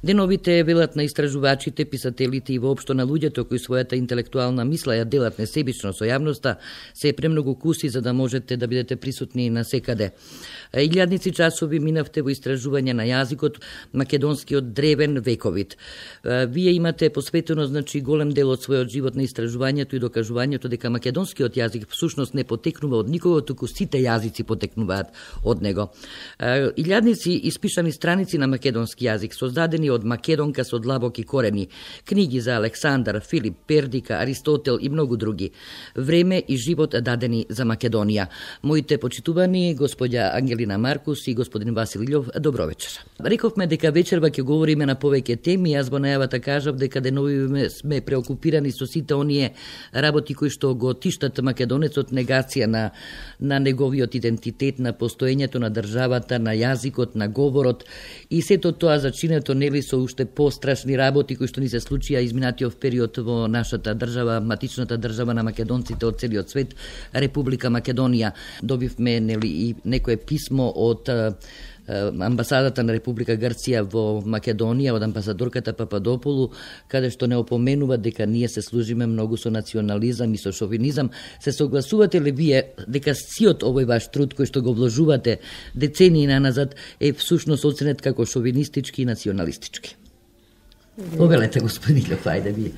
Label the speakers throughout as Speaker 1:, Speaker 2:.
Speaker 1: Деновите велат на истражувачите, писателите и воопшто на луѓето кои својата интелектуална мисла ја делат несебично со јавноста, се премногу куси за да можете да бидете присутни на секаде. Илјадници часови минавте во истражување на јазикот македонскиот древен вековит. Вие имате посветено голем дел од својот живот на истражувањето и докажувањето дека македонскиот јазик всушност не потекнува од никого, туку сите јазици потекнуваат од него. Илјадници испишани страници на македонски јазик, создадени од македонка со длабоки корени, книги за Александар, Филип, Пердика, Аристотел и многу други. Време и живот дадени за Македонија. Моите почитувани господја Ангелина Маркус и господин Васил Илјов, добро вечер. Рековме дека вечерва ќе говориме на повеќе теми, јас во најавата кажав дека денови сме преокупирани со сите оние работи кои што го тиштат македонецот, негација на неговиот идентитет, на постоењето на државата, на јазикот, на говорот и сето тоа зачинето нели со уште пострашни работи кои што ни се случија изминатиот период во нашата држава, матичната држава на македонците од целиот свет, Република Македонија. Добивме нели и некое писмо од амбасадата на Република Грција во Македонија, од амбасадорката Пападополу, каде што не опоменува дека ние се служиме многу со национализам и со шовинизам. Се согласувате ли вие дека сиот овој ваш труд кој што го вложувате децении наназад е всушност оценет како шовинистички и националистички? Повелете, господин Илјов, ајде вие.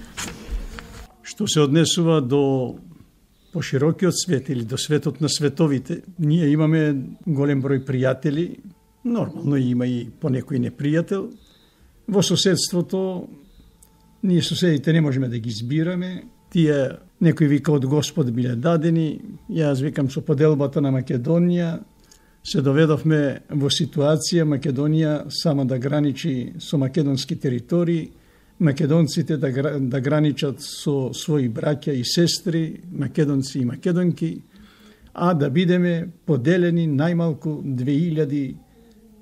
Speaker 2: Што се однесува до поширокиот свет или до светот на световите, ние имаме голем број пријатели. Нормално има и понекој непријател. Во соседството, ние соседите не можеме да ги избираме. Тие, некој вика од Господ биле дадени, јас викам со поделбата на Македонија, се доведовме во ситуација Македонија сама да граничи со македонски територии, македонците да граничат со своји браќа и сестри, македонци и македонки, а да бидеме поделени најмалку 2000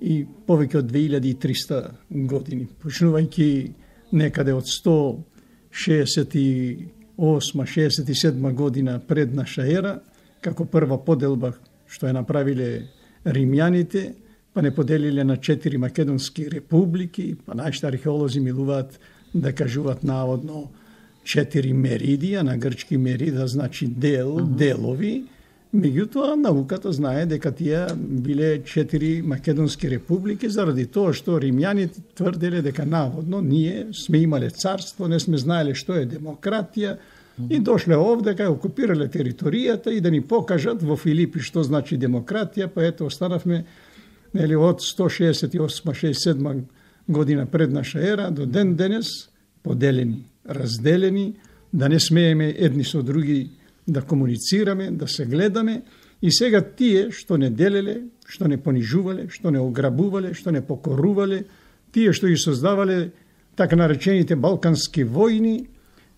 Speaker 2: и повеќе од 2300 години. Почнувајќи некаде од 168-67 година пред наша ера, како прва поделба што ја направиле римјаните, па не поделиле на 4 македонски републики, па нашите археолози милуваат да кажуваат наводно 4 меридија, на грчки мерида значи дел, делови. Меѓутоа, науката знае дека тие биле 4 македонски републики, заради тоа што римјаните тврделе дека наводно ние сме имале царство, не сме знаеле што е демократија и дошле овде кај окупирале територијата и да ни покажат во Филипи што значи демократија, па ето останавме нели од 168-67 година пред наша ера до ден денес поделени, разделени, да не смееме едни со други да комуницираме, да се гледаме и сега тие што не делеле, што не понижувале, што не ограбувале, што не покорувале, тие што ги создавале така наречените балкански војни,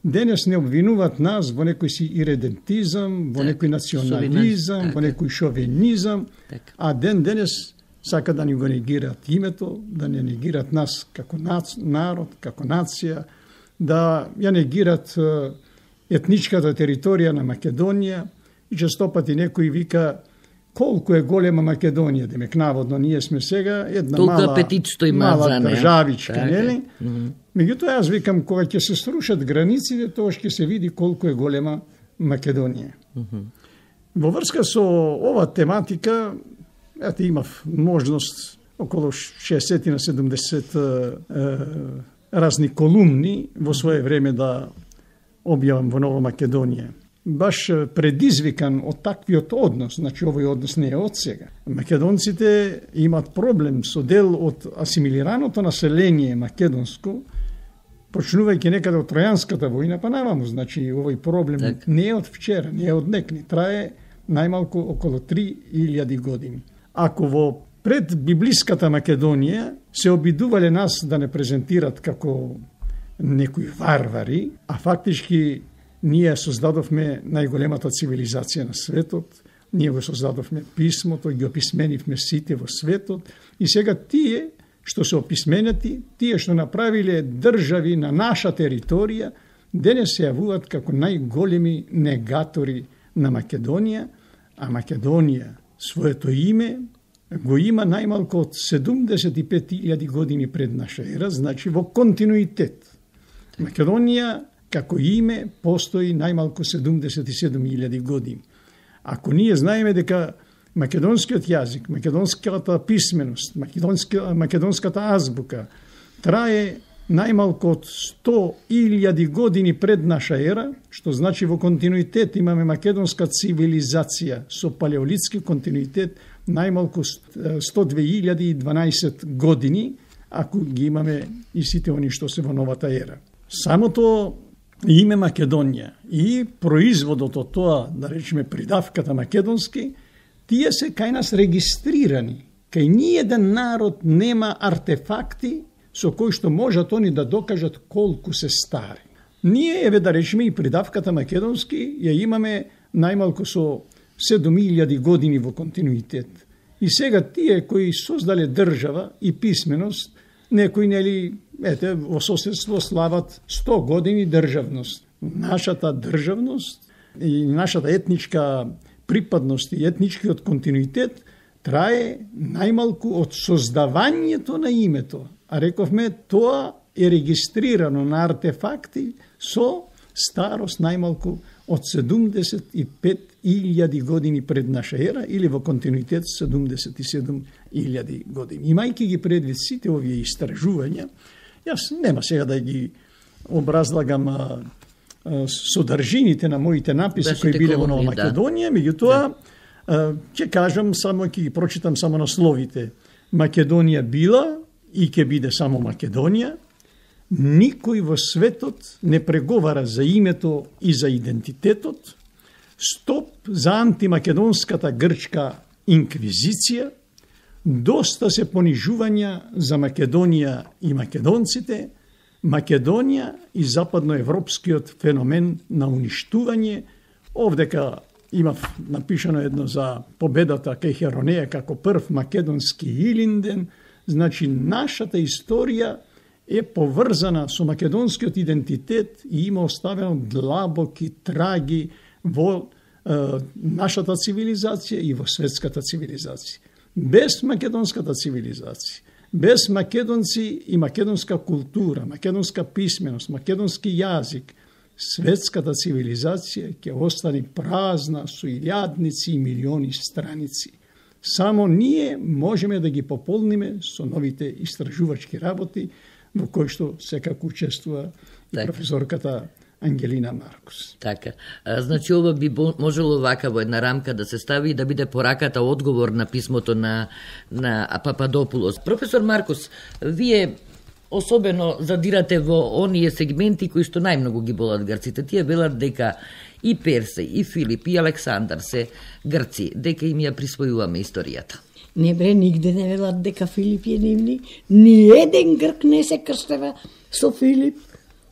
Speaker 2: денес не обвинуваат нас во некој си иредентизам, во некој национализам, во некој шовинизам, а денес сака да ни го негираат името, да не негираат нас како народ, како нација, да ја негираат етничката територија на Македонија и честопати некој вика колку е голема Македонија, демек наводно ние сме сега една мала државичка, нели? Меѓутоа јас викам кога ќе се срушат границите, тоа ќе се види колку е голема Македонија. Во врска со ова тематика, ете имав можност околу 60 на 70 разни колумни во свое време да објавам во Нова Македонија. Баш предизвикан од таквиот однос, значи овој однос не е од сега. Македонците имат проблем со дел од асимилираното население македонско, почнувајќи некаде од Тројанската војна, па наваму, значи овој проблем не е од вчера, не е од некни, трае најмалку околу 3000 години. Ако во пред библиската Македонија се обидувале нас да не презентират како некои варвари, а фактички ние создадовме најголемата цивилизација на светот, ние го создадовме писмото, ги описменивме сите во светот и сега тие што се описменети, тие што направиле држави на наша територија, денес се јавуваат како најголеми негатори на Македонија, а Македонија своето име го има најмалку од 75.000 години пред наша ера, значи во континуитет. Македонија како име постои најмалку 77.000 години. Ако ние знаеме дека македонскиот јазик, македонската писменост, македонската азбука трае најмалку од 100.000 години пред наша ера, што значи во континуитет имаме македонска цивилизација со палеолитски континуитет најмалку 102.012 години, ако ги имаме и сите они што се во новата ера. Самото име Македонија и производот од тоа, да речеме придавката македонски, тие се кај нас регистрирани. Кај ниеден народ нема артефакти со кои што можат они да докажат колку се стари. Ние, еве да речеме, и придавката македонски ја имаме најмалку со 7.000 години во континуитет. И сега тие кои создале држава и писменост, некои, нели, во соседство слават 100 години државност. Нашата државност и нашата етничка припадност и етничкиот континуитет трае најмалку од создавањето на името. А рековме, тоа е регистрирано на артефакти со старост најмалку од 75.000 години пред наша ера или во континуитет 77.000 години. Имајќи ги предвид сите овие истражувања, јас нема сега да ги образлагам содржините на моите написи кои биле во Нова Македонија, меѓутоа ќе кажам само, ќе ги прочитам само насловите. Македонија била и ќе биде само Македонија. Никој во светот не преговара за името и за идентитетот. Стоп за антимакедонската грчка инквизиција. Доста се понижувања за Македонија и македонците. Македонија и западноевропскиот феномен на уништување. Овдека имав напишано едно за победата кај Херонеја како прв македонски Илинден. Значи, нашата историја е поврзана со македонскиот идентитет и има оставено длабоки траги во нашата цивилизација и во светската цивилизација. Без македонската цивилизација, без македонци и македонска култура, македонска писменост, македонски јазик, светската цивилизација ќе остане празна со илјадници и милиони страници. Само ние можеме да ги пополниме со новите истражувачки работи во кои што секако учествува и професорката Ангелина Маркус.
Speaker 1: Така. Значи, ова би можело вака во една рамка да се стави и да биде пораката одговор на писмото на Пападопулос. Професор Маркус, вие особено задирате во оние сегменти кои што најмногу ги болат грците. Тие велат дека и Персеј, и Филип, и Александар се грци, дека им ја присвојуваме историјата.
Speaker 3: Не бре, нигде не велат дека Филип е нивни. Ни еден грк не се крстева со Филип.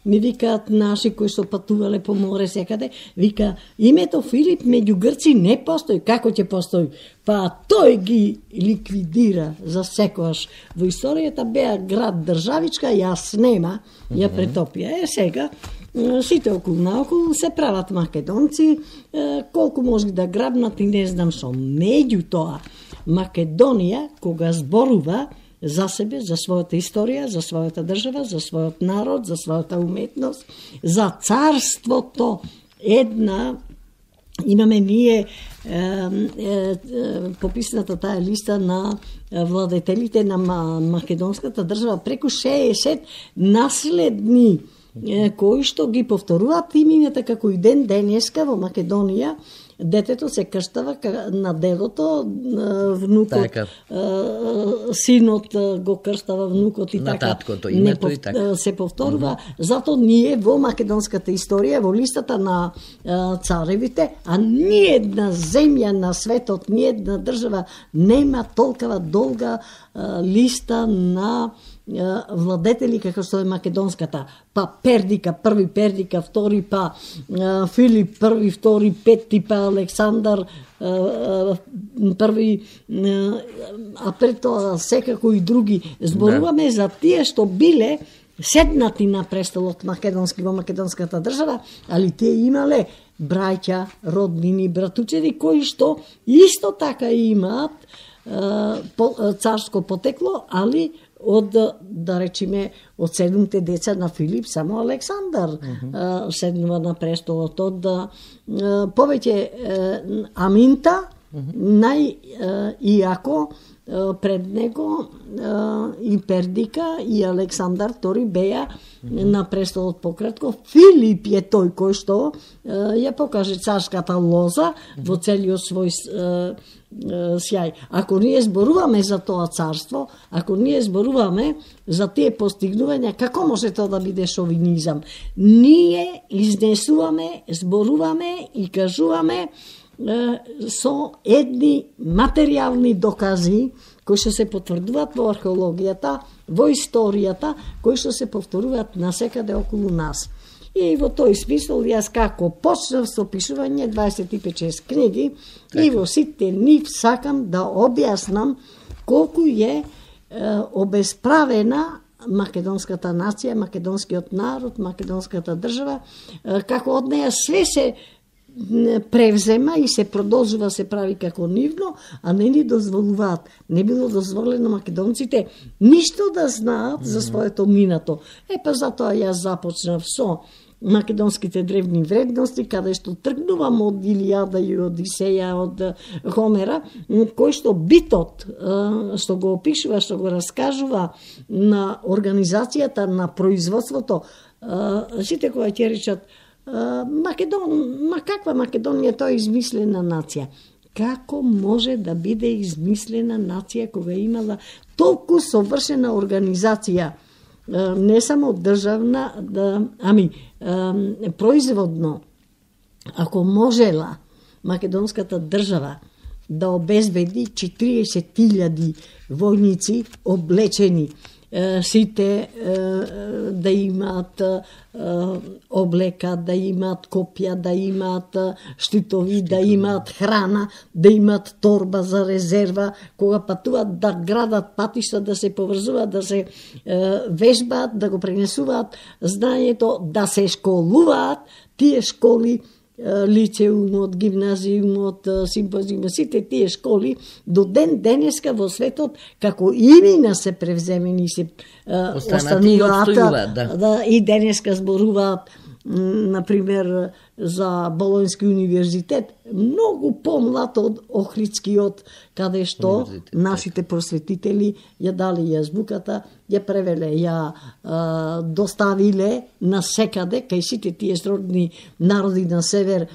Speaker 3: Ми викаат наши кои што патувале по море секаде, вика, името Филип меѓу грци не постои. Како ќе постои? Па тој ги ликвидира за секојаш. Во историјата беа град државичка, јас нема, ја претопија. Сега сите околу наоколу се прават македонци, колку можели да грабнат и не знам што. Меѓутоа, Македонија, кога зборува за себе, за својата историја, за својата држава, за својот народ, за својата уметност, за царството, една, имаме ние пописната таа листа на владетелите на македонската држава, преку 60 наследни кои што ги повторуваат имињата како и ден денеска во Македонија. Детето се крштава на дедото, внукот, синот го крштава внукот и така.
Speaker 1: На таткото името и така.
Speaker 3: Се повторува. Зато ние во македонската историја, во листата на царевите, а ниедна земја на светот, ниедна држава нема толкова долга листа на владетели како што е македонската. Па Пердика, први Пердика, втори, па Филип, први, втори, пети, па Александар, први, а пред тоа секако и други. Зборуваме за тие што биле седнати на престолот македонски во македонската држава, али тие имале браќа, роднини, братучеди, кои што исто така имаат царско потекло, али од, да речиме, од 7 деца на Филип, само Александар седнува на престолот. Од повеќе Аминта, најиако пред него и Пердика и Александар II беа на престолот пократко. Филип е тој кој што ја покаже царската лоза во целиот свој сјај. Ако ние зборуваме за тоа царство, ако ние зборуваме за тие постигнувања, како може тоа да биде шовинизам? Ние изнесуваме, зборуваме и кажуваме со едни материјални докази кои што се потврдуваат во археологијата, во историјата, кои што се повторуваат насекаде околу нас. И во тој смисол јас како почнав со пишување 25-6 книги и во сите нив сакам да објаснам колку е обесправена македонската нација, македонскиот народ, македонската држава, како од неја све се превзема и се продолжува се прави како нивно, а не ни дозволуваат. Не било дозволено македонците ништо да знаат за своето минато. Па затоа јас започнав со македонските древни вредности, каде што тргнувам од Илијада и Одисеја, од Хомера, кој што битот, што го опишува, што го раскажува на организацијата, на производството, сите кои ќе речат каква Македонија, тоа е измислена нација. Како може да биде измислена нација кога имала толку совршена организација, не само државна, производно, ако можела македонската држава да обезбеди 40.000 војници облечени, сите да имаат облека, да имаат копја, да имаат штитови, да имаат храна, да имаат торба за резерва, кога патуваат да градат патишта, да се поврзуваат, да се вежбаат, да го пренесуваат знанието, да се школуваат, тие школи, лицеумот, гимназиумот, симпозиумот, сите тие школи до ден денеска во светот како имена се превземени, се остануваат, и денеска зборуваат, например, за Болонски универзитет, многу помлад од Охридскиот, каде што нашите просветители ја дали јазбуката, ја превеле, ја доставиле на секаде, кај сите тие сродни народи на север,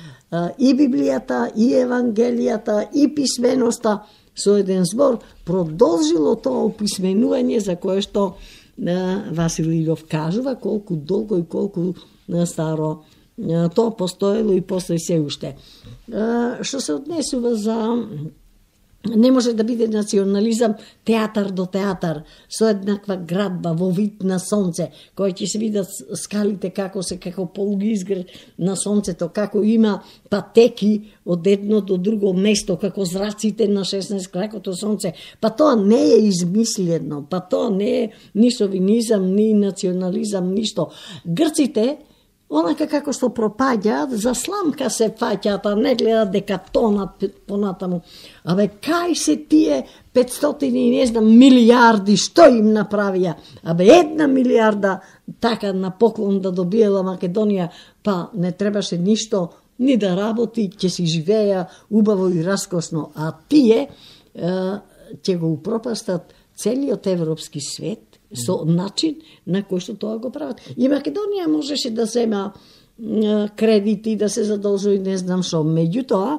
Speaker 3: и Библијата, и Евангелијата, и писменоста, со еден збор, продолжило тоа описменување за кое што Васил Илјов кажува колку долго и колку старо тоа постоело и постои се уште. Што се однесува за не може да биде национализам театар до театар, со еднаква градба во вид на сонце, кој ќе се видат скалите како се, како полуизград на сонцето, како има патеки од едно до друго место, како зраците на 16 кракото сонце. Па тоа не е измислено, па тоа не е ни шовинизам, ни национализам, ништо. Грците, онака како што пропаѓаат, за сламка се фаќаат, а не гледат дека тонат понатаму. Кај се тие 500 и не знам милиарди, што им направија? 1 милиарда така на поклон да добиела Македонија, па не требаше ништо, ни да работи, ќе си живеја убаво и раскосно, а тие ќе го упропастат целиот европски свет со начин на кој што тоа го прават. И Македонија можеше да зема кредити, да се задолжува, не знам што. Меѓутоа,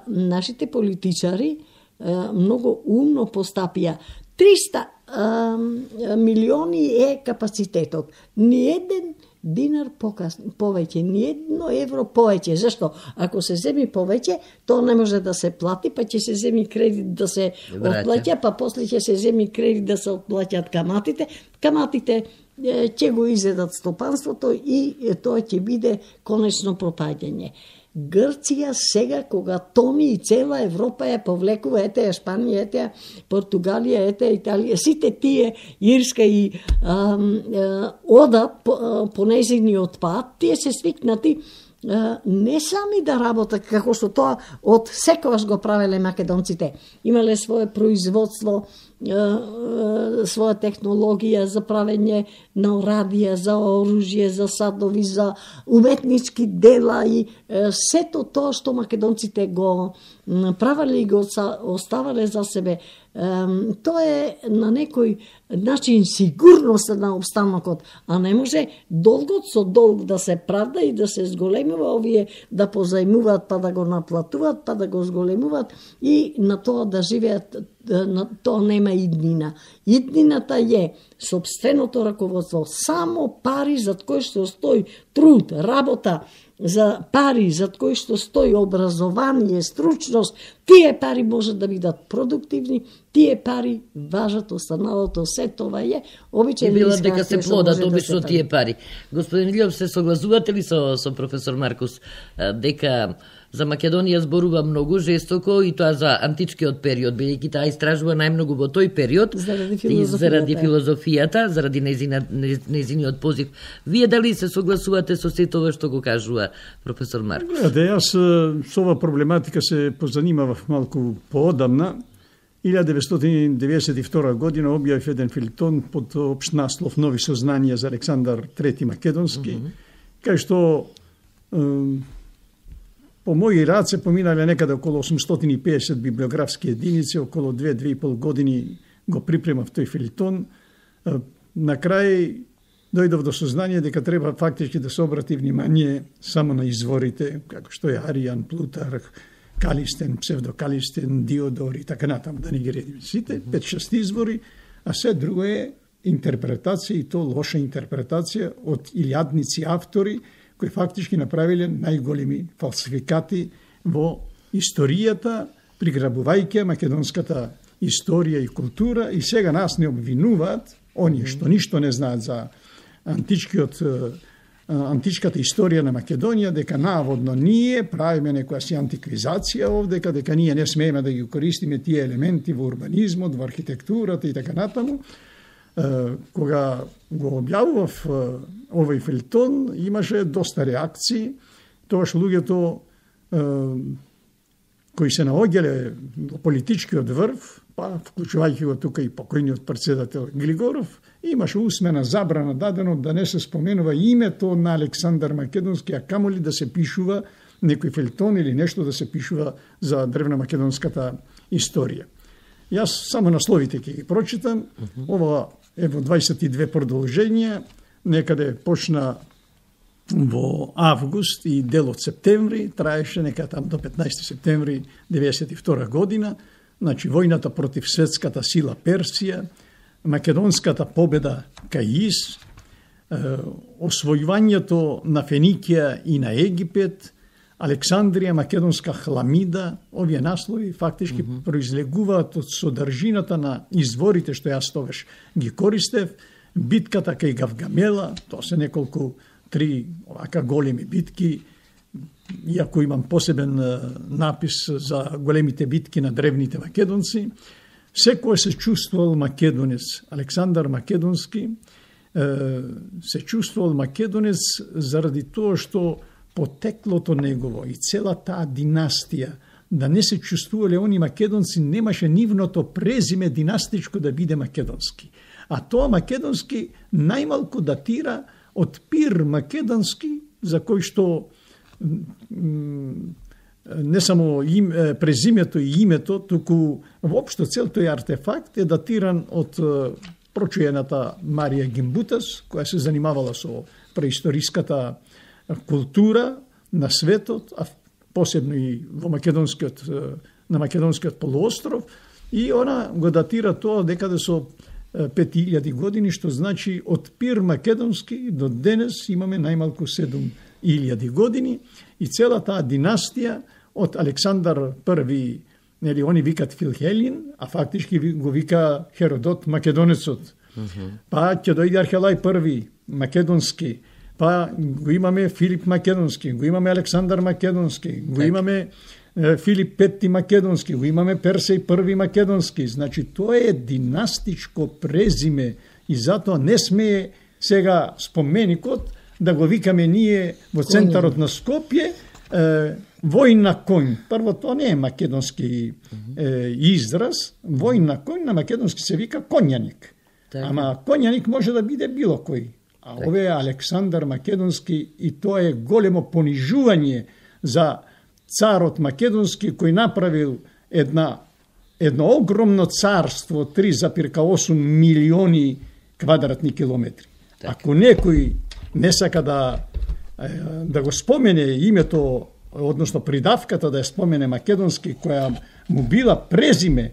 Speaker 3: нашите политичари многу умно постапија. 300 милиони е капацитетот. Ни еден динар повеќе, ни едно евро повеќе. Зашто? Ако се земи повеќе, тоа не може да се плати, па ќе се земи кредит да се отплаќа, па после ќе се земи кредит да се отплаќаат каматите. Каматите ќе го изедат стопанството и тоа ќе биде конечно пропаѓање. Грција сега, кога тони и цела Европа ја повлекува, ете Шпанија, ете Португалија, ете Италија, сите тие, Ирска и одат по нејзиниот пат, тие се свикнати не сами да работат, како што тоа од секогаш го правеле македонците. Имале свое производство, своја технологија за правење на орадија, за оружје, за садови, за уметнички дела и сето тоа што македонците го правеле и го оставале за себе. Тоа е на некој начин сигурност на обстанокот, а не може долгот со долг да се правда и да се зголемува, овие да позајмуваат па да го наплатуваат, па да го зголемуваат и на тоа да живеат, на тоа нема иднина. Иднината е сопственото раководство, само пари зад кои што стои труд, работа, за пари зад кои што стои образование, стручност, тие пари можат да бидат продуктивни, тие пари важат, останалото се тоа е обичај.
Speaker 1: Била дека се плодат обично тие пари. Господин Илјов, се согласувате ли со професор Маркус дека за Македонија зборува многу жестоко и тоа за античкиот период, бидејќи таа истражува најмногу во тој период заради филозофијата, заради нејзиниот позив. Вие дали се согласувате со сето ова што го кажува професор Маркус?
Speaker 2: Јас со ова проблематика се позанимавав малку поодамна. 1992 година објавив еден филтон под општ наслов Нови сознанија за Александар III Македонски, кај што по моји раце поминале некаде околу 850 библиографски единици, околу 2-2,5 години го припремав тој филтон. На крај дојдов до сознание дека треба фактички да се обрати внимание само на изворите, како што е Аријан, Плутарх, Калистен, псевдокалистен, Диодор и така натаму, да не ги редим сите, 5-6 извори, а се друго е интерпретација и то лоша интерпретација од илјадници автори кои фактички направиле најголеми фалсификати во историјата, приграбувајќи македонската историја и култура, и сега нас не обвинуваат, оние што ништо не знаат за античката историја на Македонија, дека наводно ние правиме некоја си антиквизација овдека, дека ние не смееме да ги користиме тие елементи во урбанизмот, во архитектурата и така натаму. Кога го објавував овој филтон, имаше доста реакции. Тогаш луѓето кои се наоѓале во политичкиот врв, па вклучувајќи го тука и покојниот председател Глигоров, имаше усмена забрана дадено да не се споменува името на Александар Македонски, а камоли да се пишува некој филтон или нешто да се пишува за древномакедонската историја. Јас само насловите ќе ги прочитам. Ова е во 22 продолженија, некаде почна во август и дел од септември, траеше нека там до 15 септември 1992 година, значи војната против светската сила Персија, македонската победа кај Ис, освојувањето на Феникија и на Египет, Александрија, македонска хламида. Овие наслови фактички произлегуваат од содржината на изворите што јас тогаш ги користев. Битката кај Гавгамела, тоа се неколку 3 овака големи битки, иако имам посебен напис за големите битки на древните македонци. Секој се чувствувал македонец. Александар Македонски се чувствувал македонец заради тоа што потеклото негово и цела таа династија, да не се чувствувале они македонци, немаше нивното презиме династичко да биде македонски. А тоа македонски најмалку датира од Пир Македонски, за кој што не само презимето и името, туку воопшто цел тој артефакт е датиран од прочуената Марија Гимбутас, која се занимавала со преисториската култура на светот, а посебно и во на македонскиот полуостров, и она го датира тоа декаде со 5000 години, што значи од Пир Македонски до денес имаме најмалку 7000 години, и цела таа династија од Александар I, нели они викат Филхелин, а фактички го вика Херодот Македонецот. Па ќе дојде Архелај I Македонски, па го имаме Филип Македонски, го имаме Александар Македонски, го имаме Филип V Македонски, го имаме Персеј I Македонски. Значи, тоа е династичко презиме и затоа не смее сега споменикот да го викаме ние во центарот на Скопје, војн на конј. Прво, тоа не е македонски израз. Војн на конј на македонски се вика конјаник. Ама конјаник може да биде било кој. А ове е Александар Македонски и тоа е големо понижување за царот Македонски кој направил едно огромно царство, 3,8 милиони квадратни километри. Ако некој не сака да го спомене името, односно придавката да ја спомене Македонски, која му била презиме,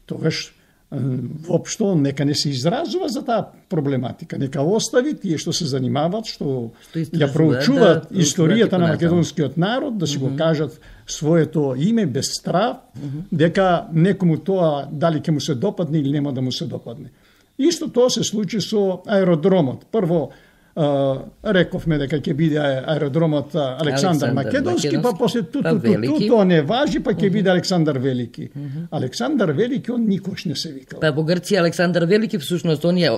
Speaker 2: тогаш воопшто нека не се изразува за таа проблематика. Нека остави тие што се занимават, што ја проучуваат историјата на македонскиот народ, да си го кажат своето име без страв, дека некому тоа дали ќе му се допадне или нема да му се допадне. Исто тоа се случи со аеродромот. Прво рековме дека ќе биде аеродромот Александар Македонски, па после тоа не важи, па ќе биде Александар Велики. Александар Велики, он никош не се викал.
Speaker 1: Па во Грција Александар Велики, всушност, он е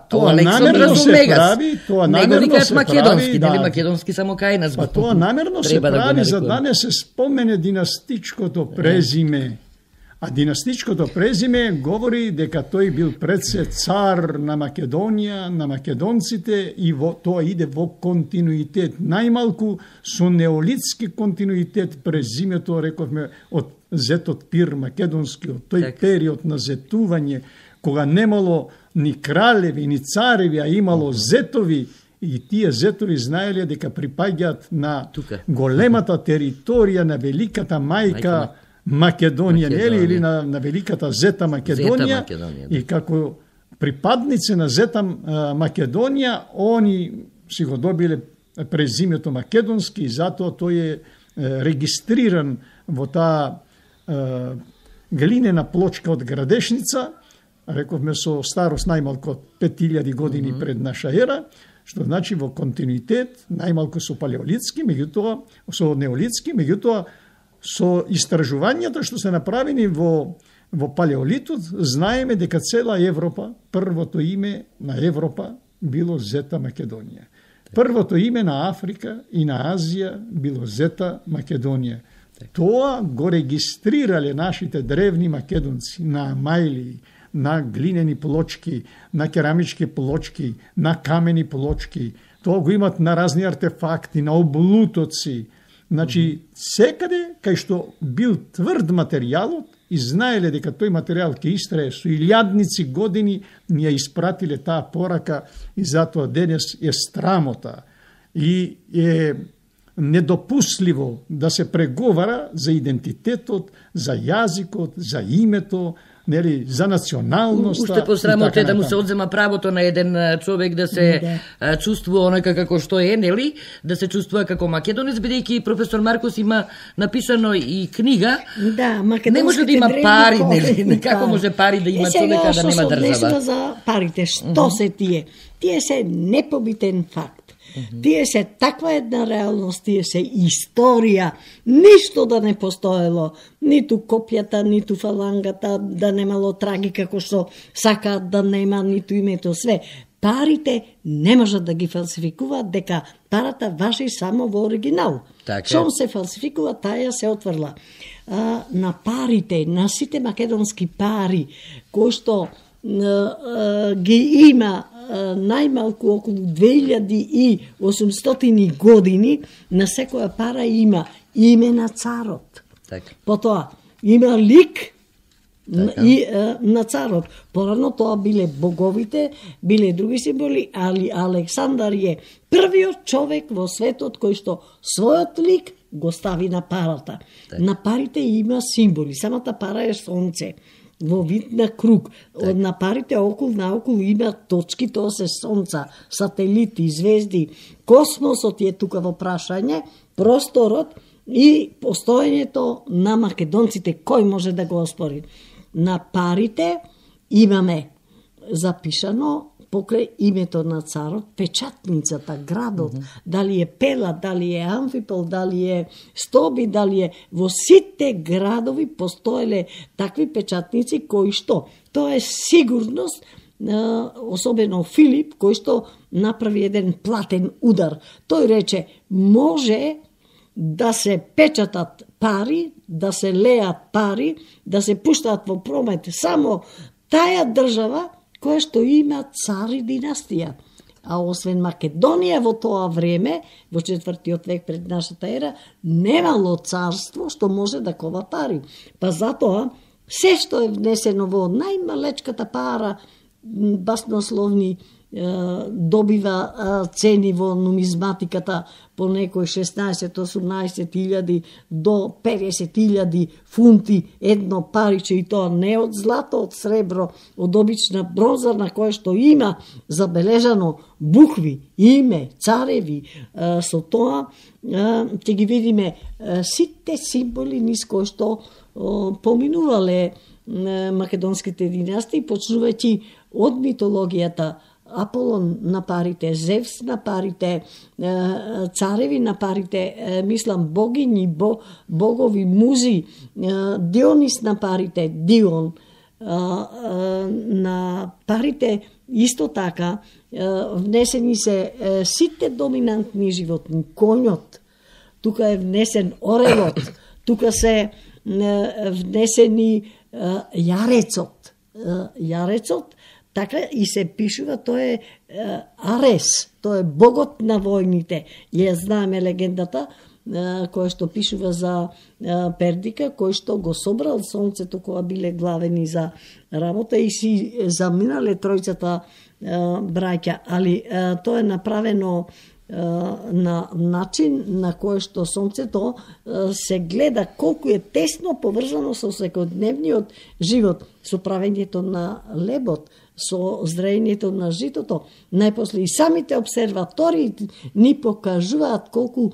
Speaker 2: тоа намерно се прави, тоа намерно се
Speaker 1: македонски, дали македонски само кај нас.
Speaker 2: Па тоа намерно се прави за да не се спомене династичкото презиме. А династичкото презиме говори дека тој бил предсе цар на Македонија, на македонците и тоа иде во континуитет. Најмалку со неолитски континуитет презимето, рековме, од зетот Пир Македонски, од тој период на зетување, кога немало ни кралеви, ни цареви, а имало зетови, и тие зетови знаеле дека припаѓаат на големата територија на великата мајка Македонија, нели, или на великата Зета Македонија, и како припадници на Зета Македонија, они си го добиле презимето Македонски и затоа тој е регистриран во таа глинена плочка од Градешница, рековме со старост најмалку 5000 години пред наша ера, што значи во континуитет, најмалку со палеолитски, меѓутоа со неолитски, меѓутоа со истражувањата што се направени во палеолитот, знаеме дека цела Европа, првото име на Европа било Зета Македонија. Првото име на Африка и на Азија било Зета Македонија. Тоа го регистрирале нашите древни македонци на амајли, на глинени плочки, на керамички плочки, на камени плочки. Тоа го имат на разни артефакти, на облутоци. Значи, секаде кај што бил тврд материјалот и знаеле дека тој материјал ќе истрае со илјадници години, ни ја испратиле таа порака и затоа денес е срамота и е недопустливо да се преговара за идентитетот, за јазикот, за името, нели, за националноста.
Speaker 1: Уште посрамота е да му се одзема правото на еден човек да се чувствува онака како што е, нели, да се чувствува како македонец, бидејќи професор Маркос има напишано и книга.
Speaker 3: Да,
Speaker 1: не може да има пари, нели, како може пари да има човека да нема држава.
Speaker 3: За парите, што се тие? Тие се непобитен факт. Тие се таква една реалност, тие се историја, ништо да не постоело, ниту копјата, ниту фалангата, да немало траги како што сакаат да нема, ниту името, све. Парите не можат да ги фалсификуваат, дека парата важи само во оригинал. Шом се фалсификува, таја се отврла. На парите, на сите македонски пари, кои што ги има најмалку околу 2800 години, на секоја пара има име на царот. Потоа има лик на царот. Порано тоа биле боговите, биле други символи, али Александар е првиот човек во светот кој што својот лик го стави на парата. На парите има символи, самата пара е сонце во вид на круг. На парите околу наоколу има точки, тоа се сонца, сателити, звезди. Космосот е тука во прашање, просторот и постоењето на македонците. Кој може да го оспори? На парите имаме запишано покрај името на царот, печатницата, градот, дали е Пела, дали е Амфипол, дали е Стоби, дали е во сите градови постоеле такви печатници кои што тоа е сигурност особено Филип, кој што направи еден платен удар. Тој рече, може да се печатат пари, да се леат пари, да се пуштаат во промет само таа држава која што има цари династија. А освен Македонија во тоа време, во 4. век пред нашата ера, немало царство што може да кова пари. Па затоа, се што е внесено во најмалечката пара, баснословни, добива цени во нумизматиката по некој 16-18 до 50.000 фунти едно париче, и тоа не од злато, од сребро, од обична бронза на кое што има забележано букви, име, цареви. Со тоа ќе ги видиме сите символи низ кои што поминувале македонските династии, почнувајќи од митологијата Аполон на парите, Зевс на парите, цареви на парите, мислам богињи, богови, музи, Дионис на парите, Дион на парите, исто така внесени се сите доминантни животни, конјот, тука е внесен орелот, тука се внесени јарецот, така и се пишува, тој е Арес, тој е богот на војните. Ја знаеме легендата која што пишува за Пердика, кој што го собрал сонцето кога биле главени за работа и си заминале тројцата браќа, али тоа е направено на начин на кој што сонцето се гледа колку е тесно поврзано со секојдневниот живот, со правењето на лебот, со зрејењето на житото. Најпосле и самите обсерватории ни покажуваат колку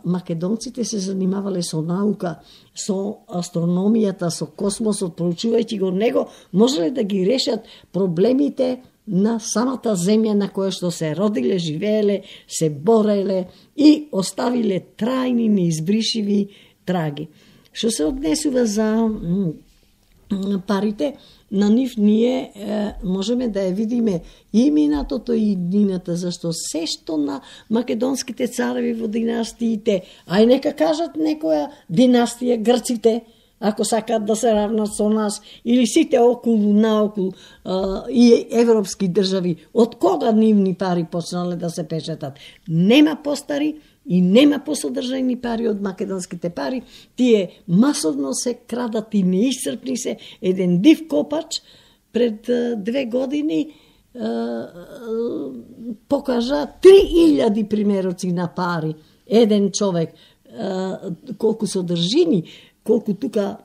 Speaker 3: македонците се занимавале со наука, со астрономијата, со космосот, проучувајќи го него, можеле да ги решат проблемите на самата земја на која што се родиле, живееле, се бореле и оставиле трајни, неизбришиви траги. Што се однесува за парите, на нив ние можеме да ја видиме и минатото и иднината, зашто се што на македонските цареви во династиите, ај нека кажат некоја династија, грците, ако сакаат да се равнат со нас, или сите околу наоколу и европски држави, од кога нивни пари почнале да се печатат? Нема постари и нема посодржајни пари од македонските пари, тие масовно се крадат и неисцрпни се. Еден див копач пред 2 години покажа 3000 примероци на пари. Еден човек, колку содржини, колку тука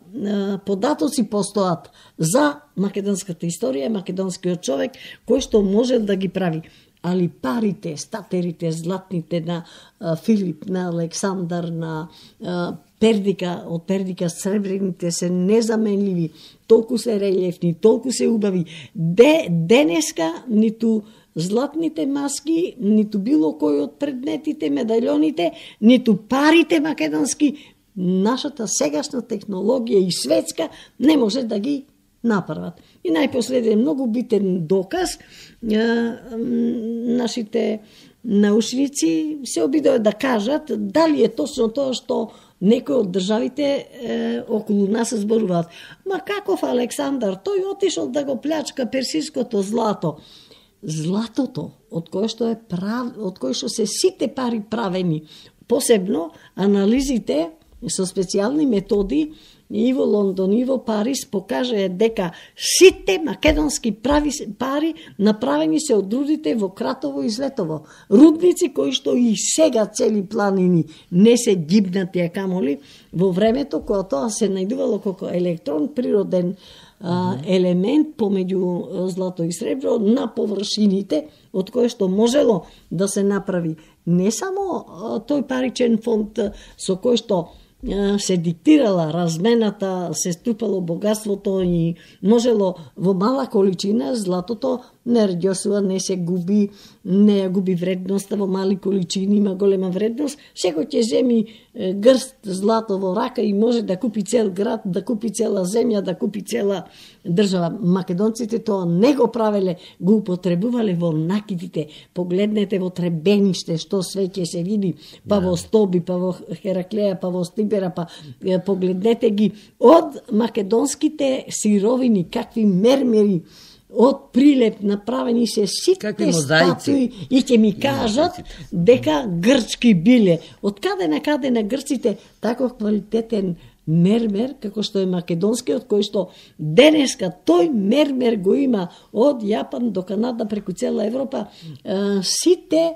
Speaker 3: податоци постојат за македонската историја, македонскиот човек, кој што може да ги прави. Али парите, статерите, златните на Филип, на Александар, на Пердика, од Пердика сребрените се незаменливи, толку се релјефни, толку се убави. Денеска ниту златните маски, ниту било кој од предметите, медалјоните, ниту парите македонски, нашата сегашна технологија и светска не може да ги направат. И најпоследен многу битен доказ, нашите научници се обидоа да кажат дали е точно тоа што некои од државите околу нас зборуваат. Ма каков Александар, тој отишол да го плячка персиското злато. Златото, од кое што се сите пари правени, посебно анализите со специјални методи и во Лондон и во Париз покажаа дека сите македонски пари направени се од рудите во Кратово и Злетово. Рудници кои што и сега цели планини не се гибнати, а камоли во времето кога тоа се најдувало како електрон, природен елемент помеѓу злато и сребро на површините, од кое што можело да се направи не само тој паричен фонд со кој што се диктирала размената, се струпало богатството и можело во мала количина златото не рѓосува, не се губи, не ја губи вредноста, во мали количини има голема вредност. Секој ќе земи грст злато во рака и може да купи цел град, да купи цела земја, да купи цела држава. Македонците тоа не го правеле, го употребувале во накидите. Погледнете во Требениште, што све ќе се види, па во Стоби, па во Хераклеја, па во Стибера, па погледнете ги од македонските сировини, какви мермери, од прилеп направени се сите статуи и ќе ми кажат дека грчки биле. Од каде на каде на грците таков квалитетен мермер, како што е македонскиот, кој што денеска тој мермер го има од Јапан до Канада преку цела Европа, сите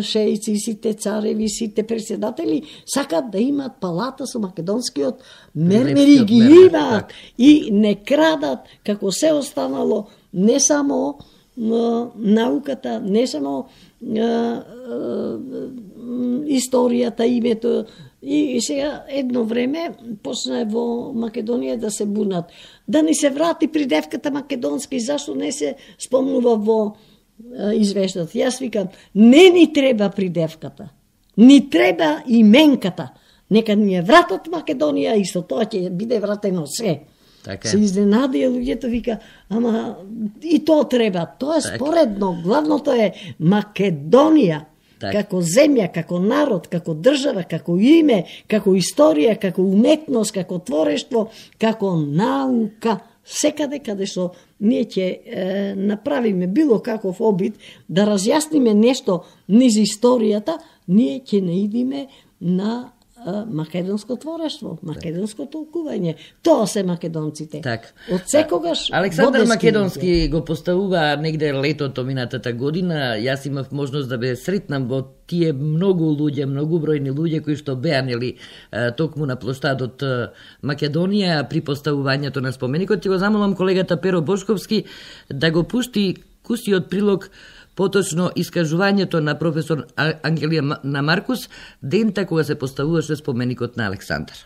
Speaker 3: шеици, сите цареви, сите председатели сакат да имат палата со македонскиот мермер и ги имаат и не крадат како се останало, не само науката, не само историјата, името. И сега едно време почна во Македонија да се бунат. Да ни се врати придевката македонски, зашто не се спомнува во извештат. Јас викам, не ни треба придевката, ни треба именката. Нека ни е вратат Македонија и со тоа ќе биде вратено се.
Speaker 1: Така.
Speaker 3: Се изненадија луѓето, вика, ама и тоа треба. Тоа е споредно. Главното е Македонија. Како земја, како народ, како држава, како име, како историја, како уметност, како творештво, како наука. Секаде каде што ние ќе направиме било каков обид да разјасниме нешто низ историјата, ние ќе наидиме на македонско творештво, македонско толкување. Тоа се македонците. Од секогаш
Speaker 1: Александар Македонски го поставува негде летото минатата година. Јас имав можност да бе сретнам во тие многу луѓе, многубројни луѓе кои што беа нели токму на плоштадот Македонија при поставувањето на споменикот. Ти го замолам колегата Перо Бошковски да го пушти кусиот прилог, поточно искажувањето на професор Ангелија на Маркус, дента кога се поставуваше споменикот на Александар.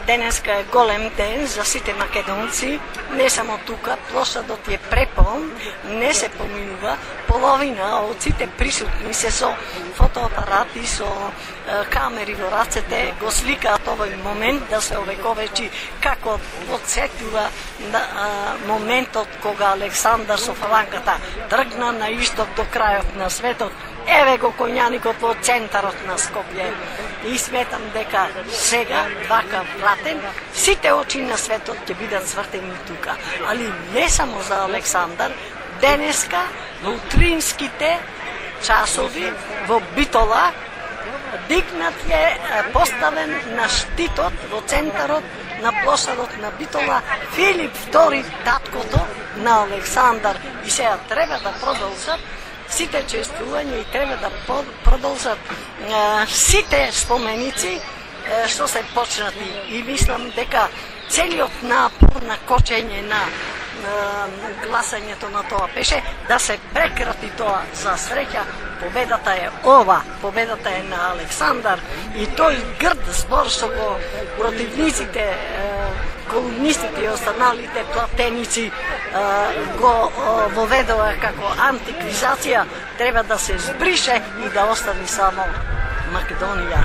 Speaker 4: Денеска е голем ден за сите македонци, не само тука, площадот е препон, не се поминува, половина од сите присутни се со фотоапарати, со камери во рацете, го сликаат овој момент да се овековечи како подсетува моментот кога Александар со фалангата тргна на исток до крајот на светот. Еве го коњаникот во центарот на Скопје. И сметам дека сега, вака вратен, сите очи на светот ќе бидат свртени тука. Али не само за Александар, денеска во утринските часови во Битола дигнат е поставен на штитот во центарот на площадот на Битола Филип II, таткото на Александар. И сега треба да продолжат сите чествувања и треба да продолжат сите споменици што се почнати. И мислам дека целиот напор на кочење на гласањето на тоа беше да се прекрати тоа. За среќа победата е ова, победата е на Александар и тој грд збор што го противниците, колумнистите и останалите платеници го воведува како антиквизација, треба да се збрише и да остане само Македонија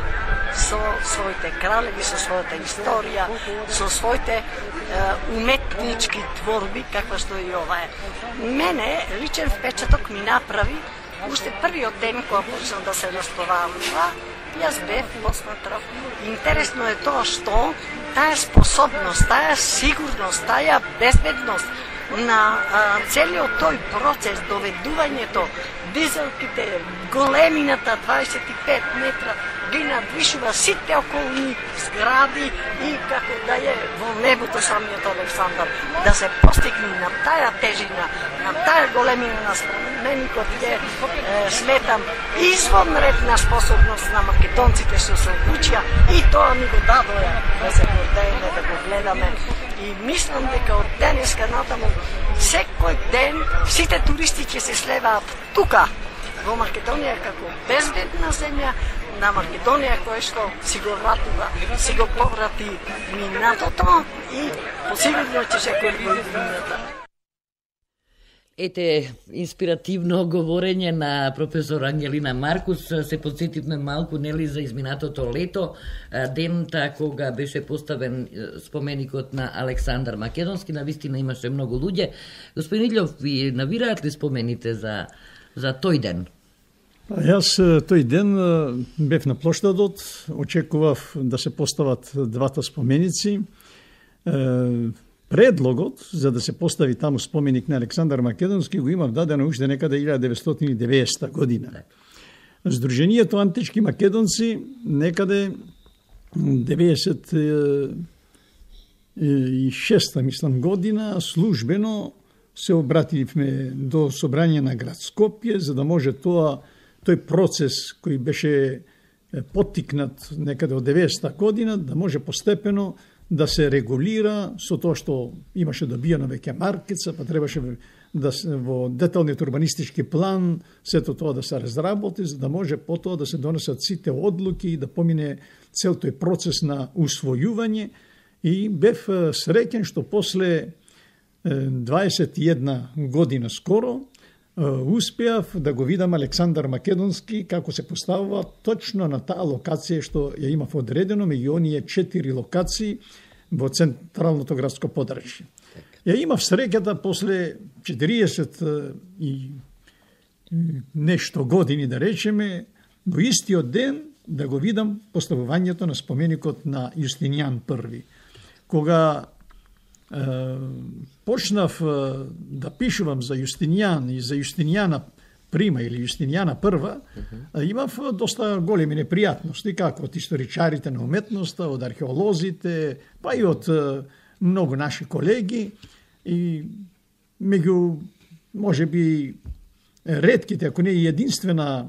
Speaker 4: со своите кралеви, со својата историја, со своите уметнички творби, каква што и ова е. Мене личен впечаток ми направи уште првиот ден кога почна да се расправува. Јас бев посматрав. Интересно е тоа што таа способност, таа сигурност, таа безбедност на целиот тој процес, доведувањето, дизелките, големината 25 метра, ги надвишува сите околни згради и како да е во небото самиот Александар. Да се постигне на таа тежина, на таа големина на споменикот е, сметам, извонредна способност на македонците што се одлучија и тоа ни го дадоја да се гордееме, да го гледаме. И мислам дека од денеска натаму секој ден сите туристи ќе се слеваат тука во Македонија како безбедна земја, на Македонија која што си го вратува, си го поврати минатото и посигурно ќе се коригира.
Speaker 1: Ете, инспиративно говорење на професор Ангелина Маркус, се подсетивме малку, нели, за изминатото лето, дента кога беше поставен споменикот на Александар Македонски, навистина имаше многу луѓе. Господин Иљов, ви навираат ли спомените за тој ден?
Speaker 2: Јас тој ден бев на плоштадот, очекував да се постават двата споменици. Предлогот за да се постави таму споменик на Александар Македонски го имав дадено уште некаде 1990 година. Сдруженијето Антички македонци некаде 96 мислам година службено се обративме до собрање на град Скопје за да може тој процес кој беше поттикнат некаде од 90 година да може постепено да се регулира со тоа што имаше добиено веќе маркица, па требаше да во деталниот урбанистички план сето тоа да се разработи, за да може потоа да се донесат сите одлуки и да помине цел тој процес на усвојување. И бев среќен што после 21 година скоро успеав да го видам Александар Македонски како се поставува точно на таа локација што ја имав одредено меѓу оние 4 локации во централното градско подрачје. Ја имав среќата после 40 и нешто години, да речеме, во истиот ден да го видам поставувањето на споменикот на Јустинијан I. Кога почнав да пишувам за Јустинијан и за Јустинијана Прима или Јустинијана I, имав доста големи непријатности, како од историчарите на уметноста, од археолозите, па и од многу наши колеги. И меѓу, може би, ретките, ако не и единствена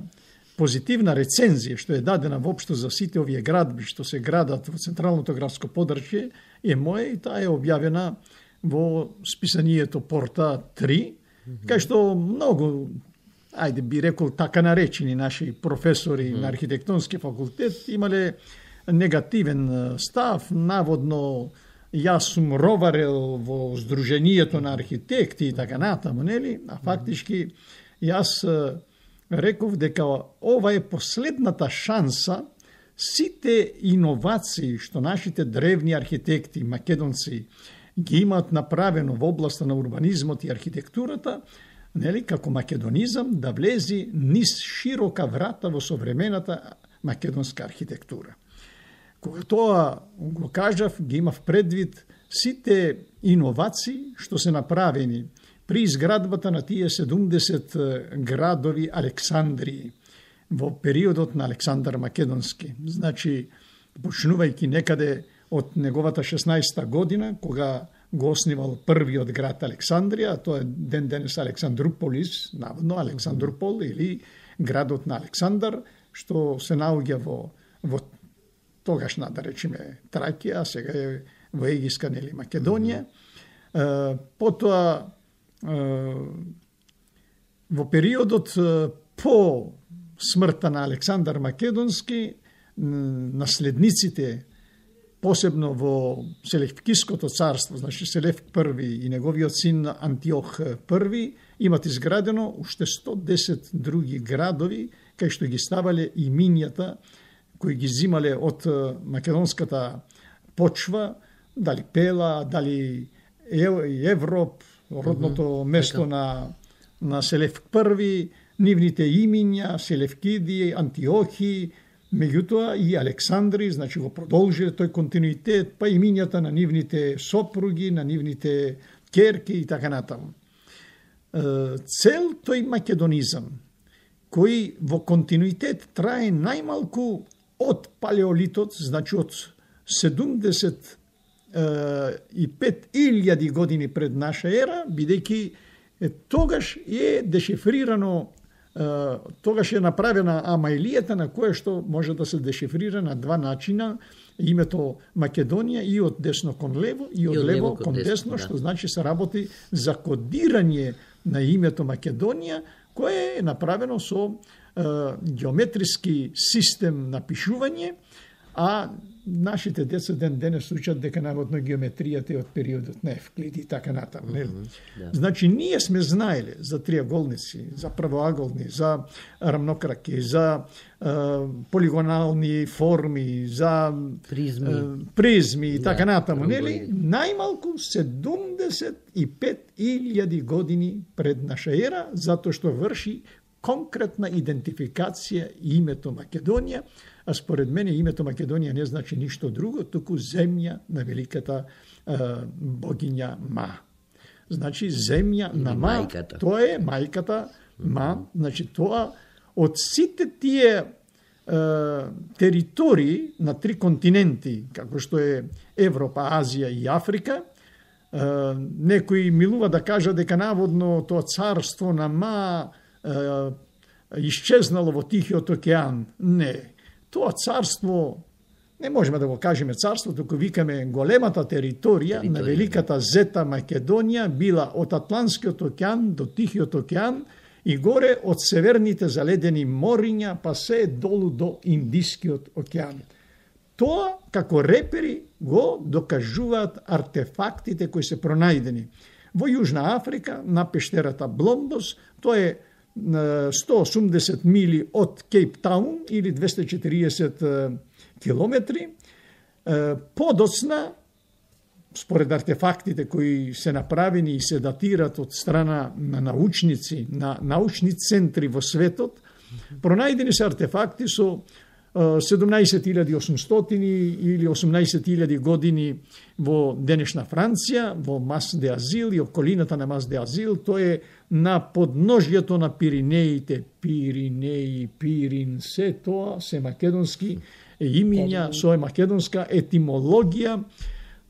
Speaker 2: позитивна рецензија што е дадена воопшто за сите овие градби што се градат во централното градско подрачје е моја и таа е објавена во списанието Порта 3, кај што многу, ајде би рекол така наречени наши професори на архитектонски факултет имале негативен став, наводно јас сум роварел во Сдруженијето на архитекти и така натаму, нели? А фактички јас реков дека ова е последната шанса сите иновации што нашите древни архитекти македонци ги имаат направено во областа на урбанизмот и архитектурата, нели, како македонизам да влези низ широка врата во современата македонска архитектура. Кога тоа го кажав, ги имав предвид сите иновации што се направени при изградбата на тие 70 градови Александрии во периодот на Александар Македонски. Значи, почнувајќи некаде од неговата 16-та година, кога го основал првиот град Александрија, тоа е ден-денес Александруполис, наводно Александрупол или градот на Александар, што се наоѓа во тогашна, да речеме, Тракија, сега е во Егиска, нели, Македонија. Потоа, во периодот по смртта на Александар Македонски, наследниците, посебно во Селевкиското царство, значи Селевк I и неговиот син Антиох I, имат изградено уште 110 други градови, кај што ги ставале имињата кои ги зимале од македонската почва, дали Пела, дали Европ, родното место на Селевк I, нивните имиња, Селевкиди, Антиохи, меѓутоа и Александри, значи го продолжи тој континуитет, па имињата на нивните сопруги, на нивните керки и така натаму. Цел тој македонизам, кој во континуитет трае најмалку од палеолитот, значи од 75.000 години пред наша ера, бидејќи тогаш е дешифрирано, тогаш е направена амаилијата на која што може да се дешифрира на два начина името Македонија и од десно кон лево и од лево кон десно, што значи се работи за кодирање на името Македонија, кое е направено со геометриски систем на пишување, а нашите деца денес учат дека наводно геометријата е од периодот на Евклид и така натаму, нели? Значи ние сме знаеле за триаголници, за правоаголни, за рамнокраки, за полигонални форми, за призми и така натаму, нели? Најмалку 75.000 години пред наша ера, затоа што врши конкретна идентификација името Македонија, а според мене името Македонија не значи ништо друго, туку земја на великата богиња Ма. Значи земја на Ма, тоа е мајката Ма, значи тоа од сите тие територии на 3 континенти, како што е Европа, Азија и Африка, некои милува да кажа дека наводно тоа царство на Ма исчезнало во Тихиот океан. Не. Тоа царство, не можеме да го кажеме царство, туку викаме големата територија на великата зета Македонија била од Атлантскиот океан до Тихиот океан и горе од северните заледени мориња па се долу до Индискиот океан. Тоа како репери го докажуваат артефактите кои се пронајдени во Јужна Африка на пештерата Бломбос. Тоа е 180 мили од Кейптаун или 240 километри. Подоцна, според артефактите кои се направени и се датират од страна на научници, на научни центри во светот, пронајдени се артефакти со 17.800 или 18.000 години во денешна Франција, во Мас де Азил и околината на Мас де Азил. Тоа е на подножјето на Пиринеите. Пиринеи, Пирин, се тоа се македонски имиња, со македонска етимологија.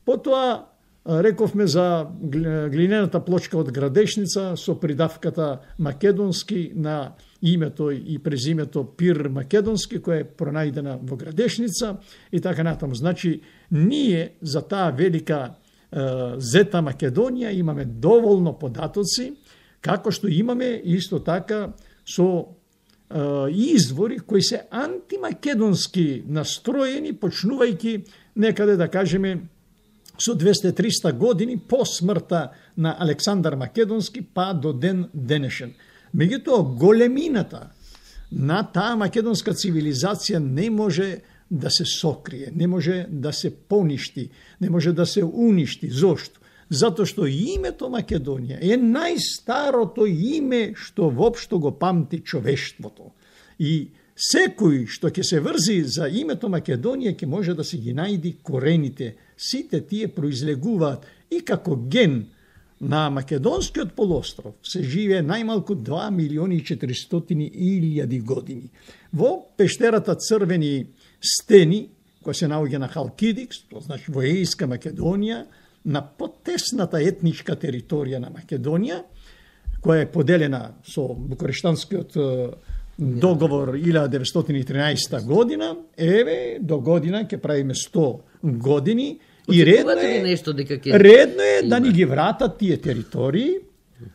Speaker 2: Потоа рековме за глинената плочка од Градешница со придавката македонски на името и презимето Пир Македонски, која е пронајдена во Градешница и така натаму. Значи, ние за таа велика зета Македонија имаме доволно податоци, како што имаме исто така со извори кои се антимакедонски настроени, почнувајќи некаде да кажеме со 200-300 години по смртта на Александар Македонски па до ден денешен. Меѓутоа, големината на таа македонска цивилизација не може да се сокрие, не може да се поништи, не може да се уништи. Зошто? Затоа што името Македонија е најстарото име што воопшто го памти човештвото. И секој што ќе се врзи за името Македонија ќе може да се ги најди корените. Сите тие произлегуваат и како ген на Македонскиот полуостров се живее најмалку 2.400.000 години. Во пештерата Црвени стени, која се наоѓа на Халкидикс, тоа значи во Ејска Македонија, на потесната етничка територија на Македонија, која е поделена со Букурештанскиот договор 1913 година, еве, до година ќе правиме 100 години, и редно е да ни ги вратат тие територии,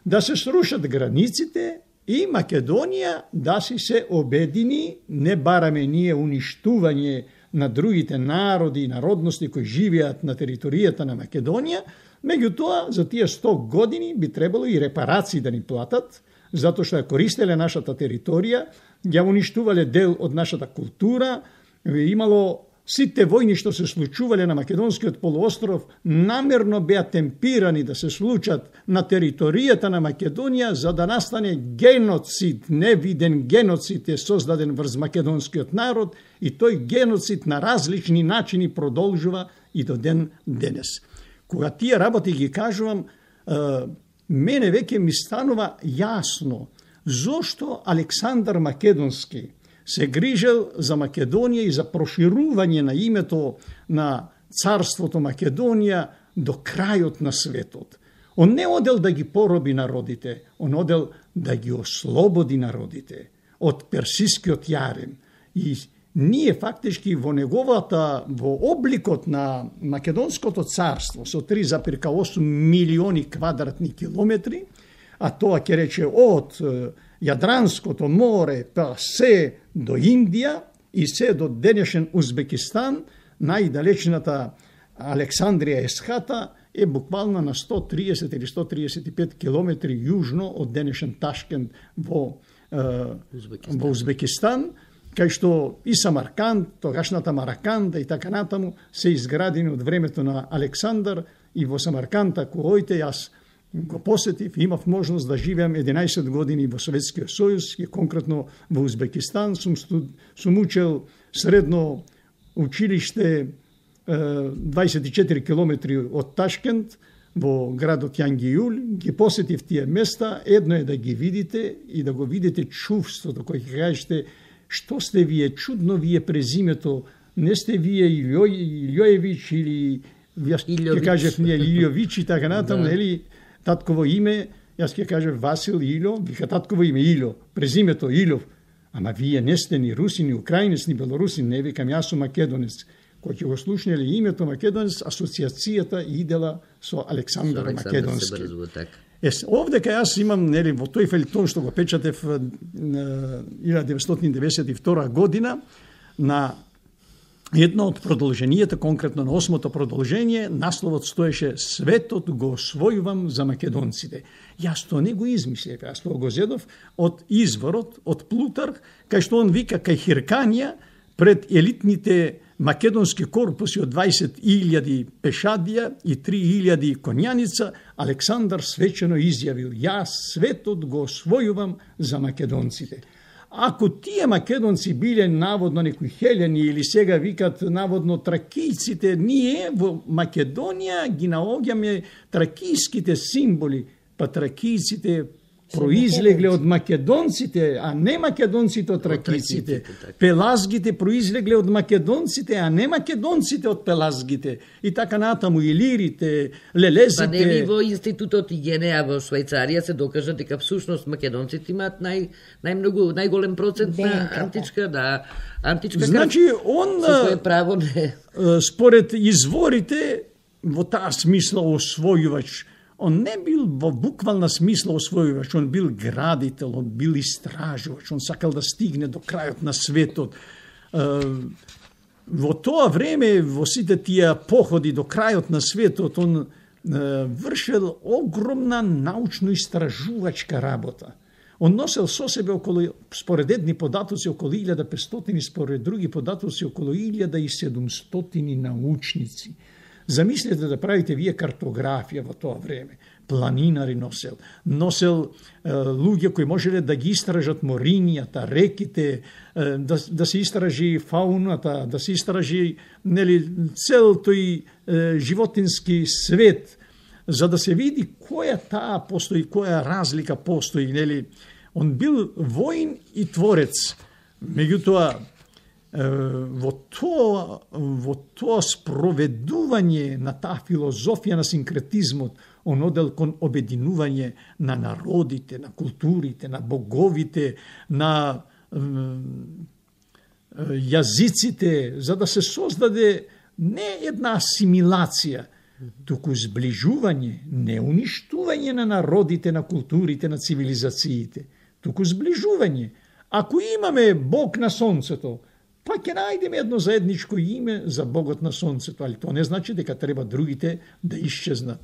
Speaker 2: да се срушат границите и Македонија да си се обедини, не бараме ние уништување на другите народи и народности кои живеат на територијата на Македонија, меѓутоа за тие 100 години би требало и репарации да ни платат, затоа што ја користеле нашата територија, ја уништувале дел од нашата култура, имало сите војни што се случувале на Македонскиот полуостров намерно беа темпирани да се случат на територијата на Македонија за да настане геноцид, невиден геноцид е создаден врз македонскиот народ и тој геноцид на различни начини продолжува и до ден денес. Кога тие работи ги кажувам, мене веќе ми станува јасно зошто Александар Македонски се грижел за Македонија и за проширување на името на царството Македонија до крајот на светот. Он не одел да ги пороби народите, он одел да ги ослободи народите од персискиот јарем. И ние фактички во обликот на Македонското царство со 3,8 милиони квадратни километри, а тоа ќе рече од Јадранското море па се до Индија и се до денешен Узбекистан, најдалечната Александрија Есхата е буквално на 130 или 135 километри јужно од денешен Ташкент во Узбекистан, кај што и Самарканд, тогашната Мараканда и така натаму се изградени од времето на Александар. И во Самарканд, ако ојте, јас го посетив, имав можност да живеам 11 години во Советскиот сојуз и конкретно во Узбекистан. Сум учел средно училиште 24 километри од Ташкент во градот Јангијул. Ги посетив тие места. Едно е да ги видите и да го видите чувството кој ќе кажете што сте вие, чудно вие презимето, не сте вие Илјоевич или јас ќе кажев ние Илјович и така натаму, нели татково име, јас ќе кажев Васил Илјо, вика татково име Илјо, презимето Илјов. Ама вие не сте ни руси, ни украинец, ни белорусин, не викам, јас сум македонец. Кој ќе го слушнели името македонец, асоциацијата идела со Александар Македонски. Овде кај јас имам, нели, во тој фелтон што го печатев 1992 година, на едно од продолженијата, конкретно на 8-то продолжение, насловот стоеше "Светот го освојувам за македонците". Јас тоа не го измислев, јас тоа го зедов од изворот, од Плутарх, кај што он вика кај Хирканија, пред елитните македонски корпуси од 20.000 пешадија и 3.000 конјаница, Александар свечено изјавил: "Јас светот го освојувам за македонците". Ако тие македонци биле наводно некои хелени или сега викат наводно тракијците, ние во Македонија ги наоѓаме тракијските символи, па тракијците произлегле од македонците, а не македонците од тракијците. Пелазгите произлегле од македонците, а не македонците од пелазгите. И така натаму илирите, лелезите.
Speaker 1: Па нели во институтот Игенеа во Швајцарија се докажа дека всушност македонците имаат најголем процент на античка
Speaker 2: Значи он
Speaker 1: со право не.
Speaker 2: Според изворите во таа смисла освојувач. Он не бил во буквална смисла освојувач, он бил градител, он бил истражувач, он сакал да стигне до крајот на светот. Во тоа време, во сите тие походи до крајот на светот, он вршел огромна научно-истражувачка работа. Он носел со себе околу, според едни податоци, околу 1500, според други податоци, околу 1700 научници. Замислете да правите вие картографија во тоа време. Планинари носел луѓе кои можеле да ги истражат морињата, реките, да се истражи фауната, да се истражи, нели, цел тој животински свет, за да се види која таа постои, која разлика постои, нели. Он бил воин и творец. Меѓутоа, во тоа спроведување на таа филозофија на синкретизмот, он одел кон обединување на народите, на културите, на боговите, на јазиците, за да се создаде не една асимилација, туку зближување, не уништување на народите, на културите, на цивилизациите, туку зближување. Ако имаме Бог на сонцето, па ќе најдеме едно заедничко име за Богот на сонцето, али тоа не значи дека треба другите да исчезнат.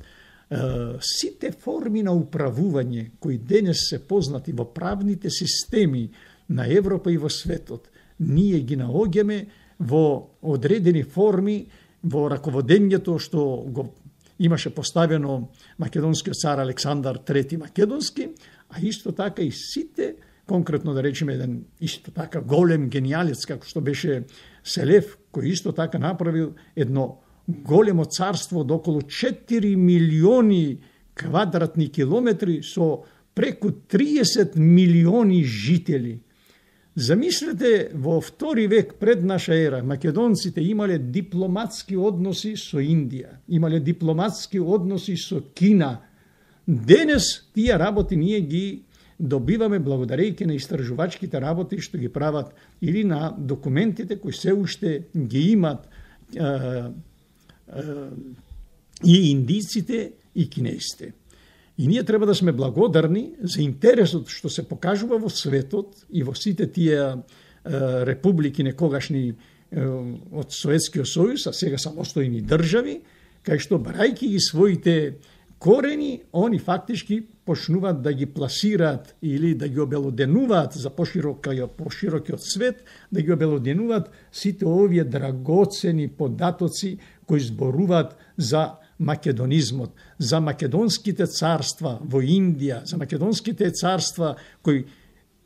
Speaker 2: Сите форми на управување кои денес се познати во правните системи на Европа и во светот, ние ги наоѓаме во одредени форми во раководењето што го имаше поставено македонскиот цар Александар III Македонски, а исто така и сите, конкретно да речеме еден исто така голем гениалец како што беше Селев, кој исто така направил едно големо царство од околу 4 милиони квадратни километри со преку 30 милиони жители. Замислете, во втори век пред наша ера, македонците имале дипломатски односи со Индија, имале дипломатски односи со Кина. Денес тие работи ние ги добиваме благодарејќи на истражувачките работи што ги прават или на документите кои се уште ги имат и индиците и кинесите. И ние треба да сме благодарни за интересот што се покажува во светот и во сите тие републики некогашни од Советскиот сојуз, а сега самостојни држави, кај што брајки ги своите корени, они фактички почнуваат да ги пласираат или да ги обелоденуваат за поширокиот свет, да ги обелоденуваат сите овие драгоцени податоци кои зборуваат за македонизмот, за македонските царства во Индија, за македонските царства кои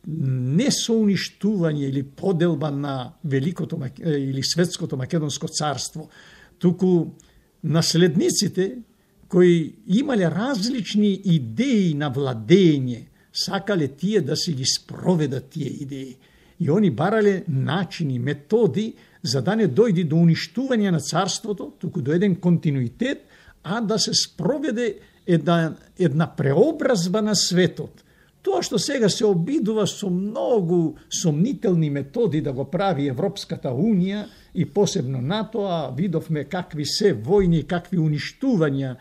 Speaker 2: не со уништување или поделба на великото или светското македонско царство, туку наследниците кои имале различни идеи на владење, сакале тие да се ги спроведат тие идеи. И они барале начини, методи, за да не дојде до уништување на царството, туку до еден континуитет, а да се спроведе една преобразба на светот. Тоа што сега се обидува со многу сомнителни методи да го прави Европската Унија и посебно НАТО, а видовме какви се војни, какви уништувања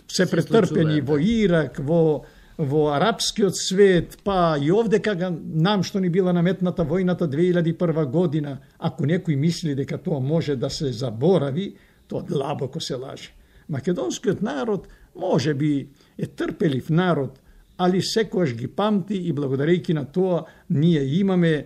Speaker 2: се претрпени во Ирак, во арапскиот свет, па и овде кога нам што ни била наметната војната 2001 година, ако некој мисли дека тоа може да се заборави, тоа длабоко се лаже. Македонскиот народ може би е трпелив народ, али секојаш ги памти и благодарејќи на тоа ние имаме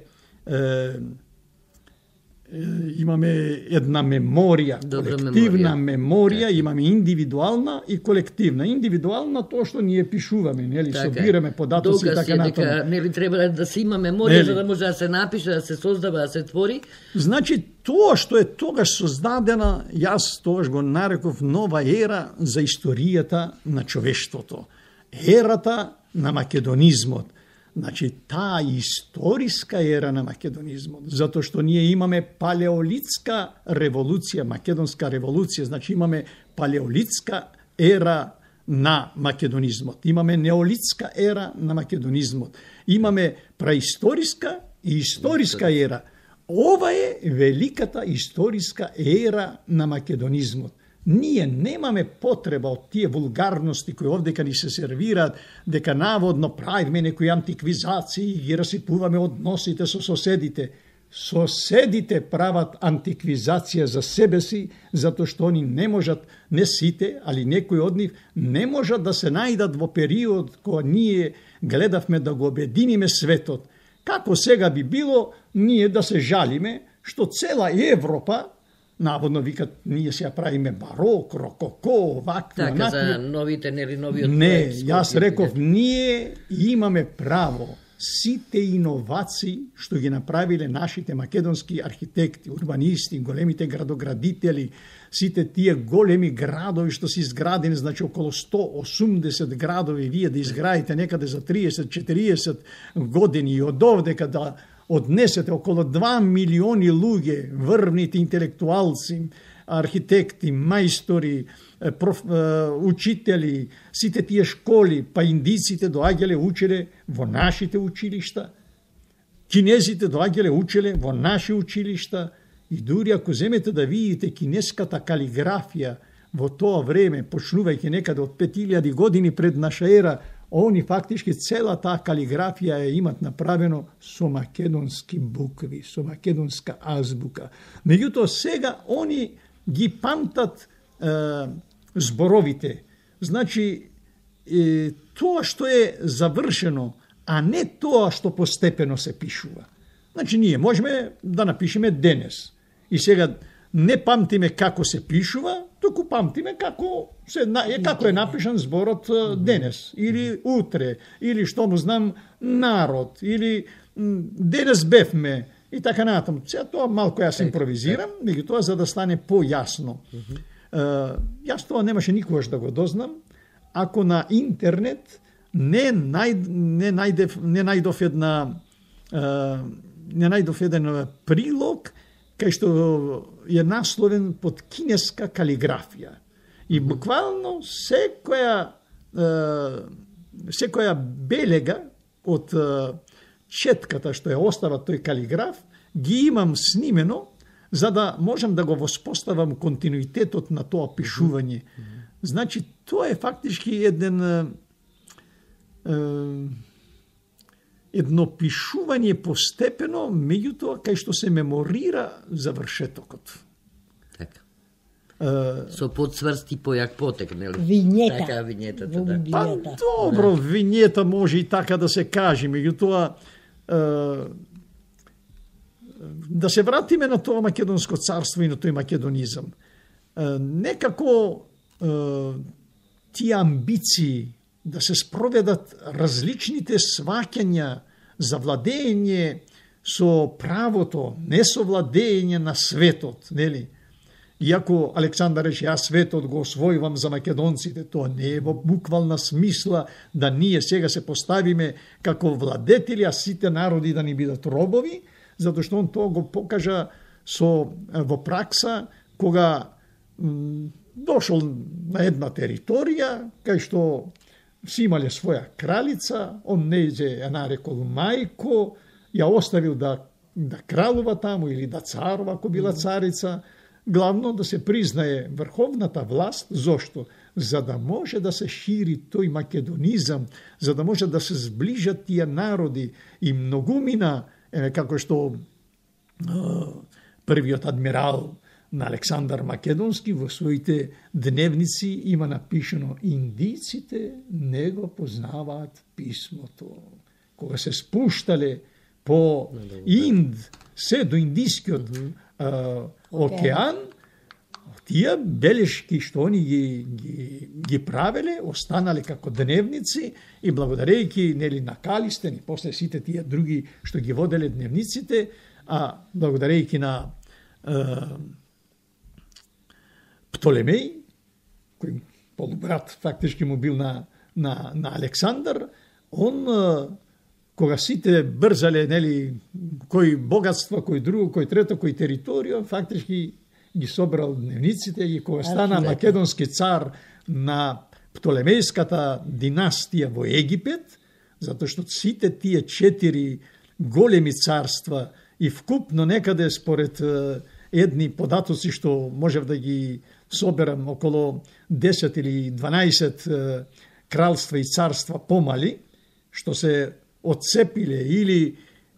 Speaker 2: една меморија, колективна меморија, имаме индивидуална и колективна. Индивидуална тоа што ние пишуваме, нели, собираме податоци и така натаму.
Speaker 1: Дека нели треба да се има меморија за да може да се напише, да се создава, да се твори.
Speaker 2: Значи тоа што е тогаш создадена, јас тогаш го нареков нова ера за историјата на човештвото. Ерата на македонизмот. Значи, таа историска ера на македонизмот, затоа што ние имаме палеолитска револуција, македонска револуција, значи имаме палеолитска ера на македонизмот, имаме неолитска ера на македонизмот, имаме праисториска и историска ера. Ова е великата историска ера на македонизмот. Ние немаме потреба од тие вулгарности кои овдека ни се сервираат, дека наводно правиме некои антиквизации и ги расипуваме односите со соседите. Соседите прават антиквизација за себе си, затоа што они не можат, не сите, али некои од нив, не можат да се најдат во период кога ние гледавме да го обединиме светот. Како сега би било ние да се жалиме што цела Европа, наводно викат, ние се ја правиме барок, рококо, вакви,
Speaker 1: така, за новите, нели, новиот
Speaker 2: проект. Не, јас реков, ние имаме право сите иновации што ги направиле нашите македонски архитекти, урбанисти, големите градоградители, сите тие големи градови што се изградени, значи околу 180 градови, вие да изградите некаде за 30-40 години и од овде када однесете околу 2 милиони луѓе, врвните интелектуалци, архитекти, мајстори, учители, сите тие школи, па индиците доаѓале учеле во нашите училишта, кинезите доаѓале учеле во наши училишта, и дури ако земете да видите кинеската калиграфија во тоа време, почнувајќи некаде од 5000 години пред наша ера, они фактички цела таа калиграфија ја имат направено со македонски букви, со македонска азбука. Меѓутоа сега они ги памтат зборовите. Значи, тоа што е завршено, а не тоа што постепено се пишува. Значи, ние можеме да напишеме денес. И сега не памтиме како се пишува, туку памтиме како е напишан зборот денес, или утре, или што му знам народ, или денес бевме, и така натаму. Сега тоа малку јас импровизирам, меѓутоа за да стане појасно. Јас тоа немаше никогаш да го дознам, ако на интернет не најдов еден прилог кај што е насловен под кинеска калиграфија. И буквално секоја белега од четката што ја остава тој калиграф, ги имам снимено, за да можам да го воспоставам континуитетот на тоа пишување. Значи, тоа е фактички едно пишување постепено, меѓутоа кај што се меморира завршетокот.
Speaker 1: Така. Со подсврсти појак потек, нели?
Speaker 3: Винјета.
Speaker 1: Така, винјетата, да.
Speaker 2: Па добро, винјета може и така да се каже, меѓутоа да се вратиме на тоа македонско царство и на тој македонизам. Некако тие амбиции да се спроведат различните сваќања за владење со правото, не со владење на светот, нели? Иако Александар рече, јас светот го освојувам за македонците, тоа не е во буквална смисла да ние сега се поставиме како владетели, а сите народи да ни бидат робови, затоа што он тоа го покажа во пракса, кога дошол на една територија, кај што си имале своја кралица, он не ја нарекол мајко, ја оставил да кралува таму или да царува, ако била царица, главно да се признае врховната власт. Зошто? За да може да се шири тој македонизам, за да може да се зближат тие народи и многумина, како што првиот адмирал на Александар Македонски во своите дневници има напишано: индиците не го познаваат писмото. Кога се спуштале по Инд, се до Индискиот океан, тие белешки што они ги правеле, останале како дневници и благодарејќи нели на Калистен и после сите тие други што ги воделе дневниците, а благодарејќи на Птолемеј, кој полубрат фактички му бил на Александар, он кога сите брзале, нели, кој богатство, кој друго, кој трето, кој територија, фактички ги собрал дневниците и кога стана македонски цар на Птолемејската династија во Египет, затоа што сите тие 4 големи царства и вкупно некаде според едни податоци што можев да ги соберам около 10 или 12 кралства и царства помали, што се отцепиле или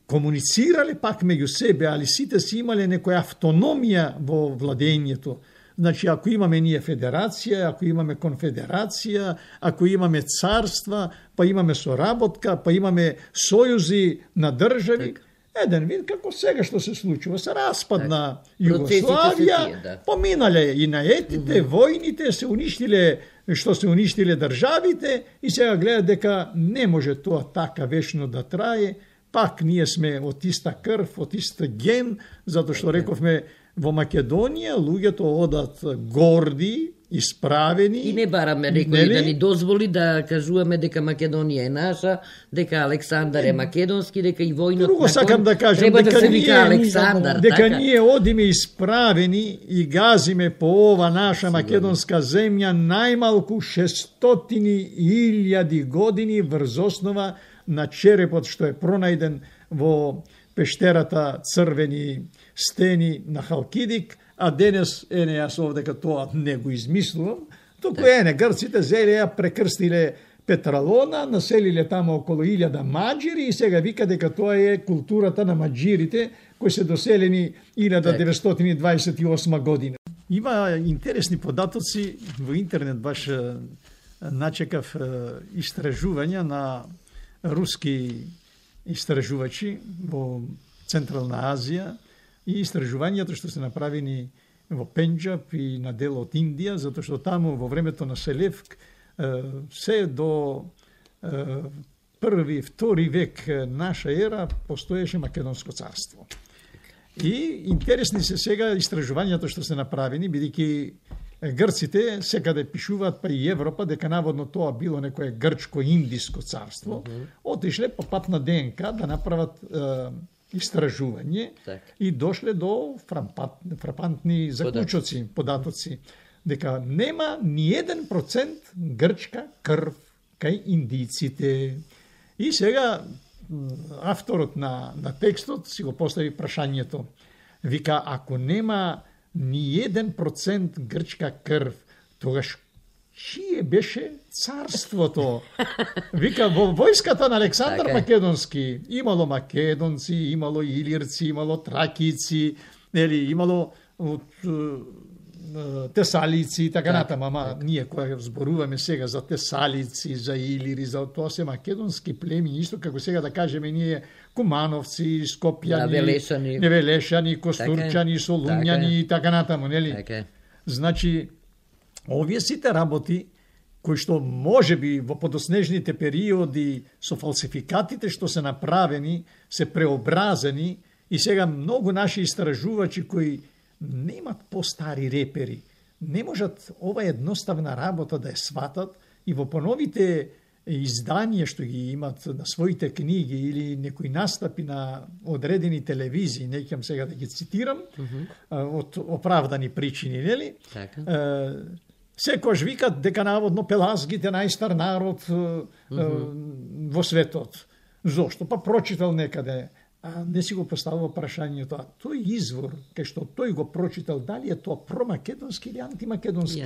Speaker 2: комуницирале пак меѓу себе, али сите си имале некоја автономија во владењето. Значи, ако имаме ние федерација, ако имаме конфедерација, ако имаме царства, па имаме соработка, па имаме сојузи на држави, еден вид како сега што се случува, се распадна Југославија, поминале и наетите, војните, се уништиле што се уништиле државите и сега гледа дека не може тоа така вечно да трае, пак ние сме од иста крв, од иста ген, затоа што рековме во Македонија луѓето одат горди, исправени.
Speaker 1: И не бараме некој да ни дозволи да кажуваме дека Македонија е наша, дека Александар е македонски, дека и војнот
Speaker 2: Друго сакам да кажам,
Speaker 1: треба да се вика Александар.
Speaker 2: Дека ние одиме исправени и газиме по ова наша македонска земја најмалку 600.000 години врз основа на черепот што е пронајден во пештерата Црвени стени на Халкидик, а денес, јас овдека тоа не го измислувам, туку грците зеле ја прекрстиле Петралона, населиле тамо около 1000 маџири и сега вика дека тоа е културата на маџирите кои се доселени 1928 година. Има интересни податоци во интернет, баш начекав истражувања на руски истражувачи во Централна Азија и истражувањето што се направени во Пенџаб и на дел од Индија, затоа што таму во времето на Селевк се до први, втори век наша ера постоеше Македонско царство. И интересни се сега истражувањето што се направени, бидејќи грците секаде пишуваат, па и Европа, дека наводно тоа било некое грчко-индиско царство, отишле по пат на ДНК да направат истражување и дошле до фрапантни заклучоци, податоци, дека нема ни 1% грчка крв кај индиците. И сега авторот на текстот си го постави прашањето. Вика, ако нема ни 1% грчка крв, тогаш чие беше царството. Вика, во војската на Александар Македонски имало македонци, имало илирци, имало тракици, имало тесалици и така натаму, ама ние која зборуваме сега за тесалици, за илири, за тоа се македонски племени, исто како сега да кажеме ние кумановци, скопјани, невелешани, костурчани, солуњани и така натаму, нели? Значи, овие сите работи кои што може би во подоснежните периоди со фалсификатите што се направени, се преобразени и сега многу наши истражувачи кои немат постари репери, не можат ова едноставна работа да ја сватат и во поновите изданија што ги имат на своите книги или некои настапи на одредени телевизии, не ќе сега да ги цитирам, од оправдани причини, нели? Секојаш викат дека наводно пелазгите најстар народ во светот. Зошто? Па прочитал некаде. А не си го поставува прашањето, а тој извор, кај што тој го прочитал, дали е тоа промакедонски или антимакедонски?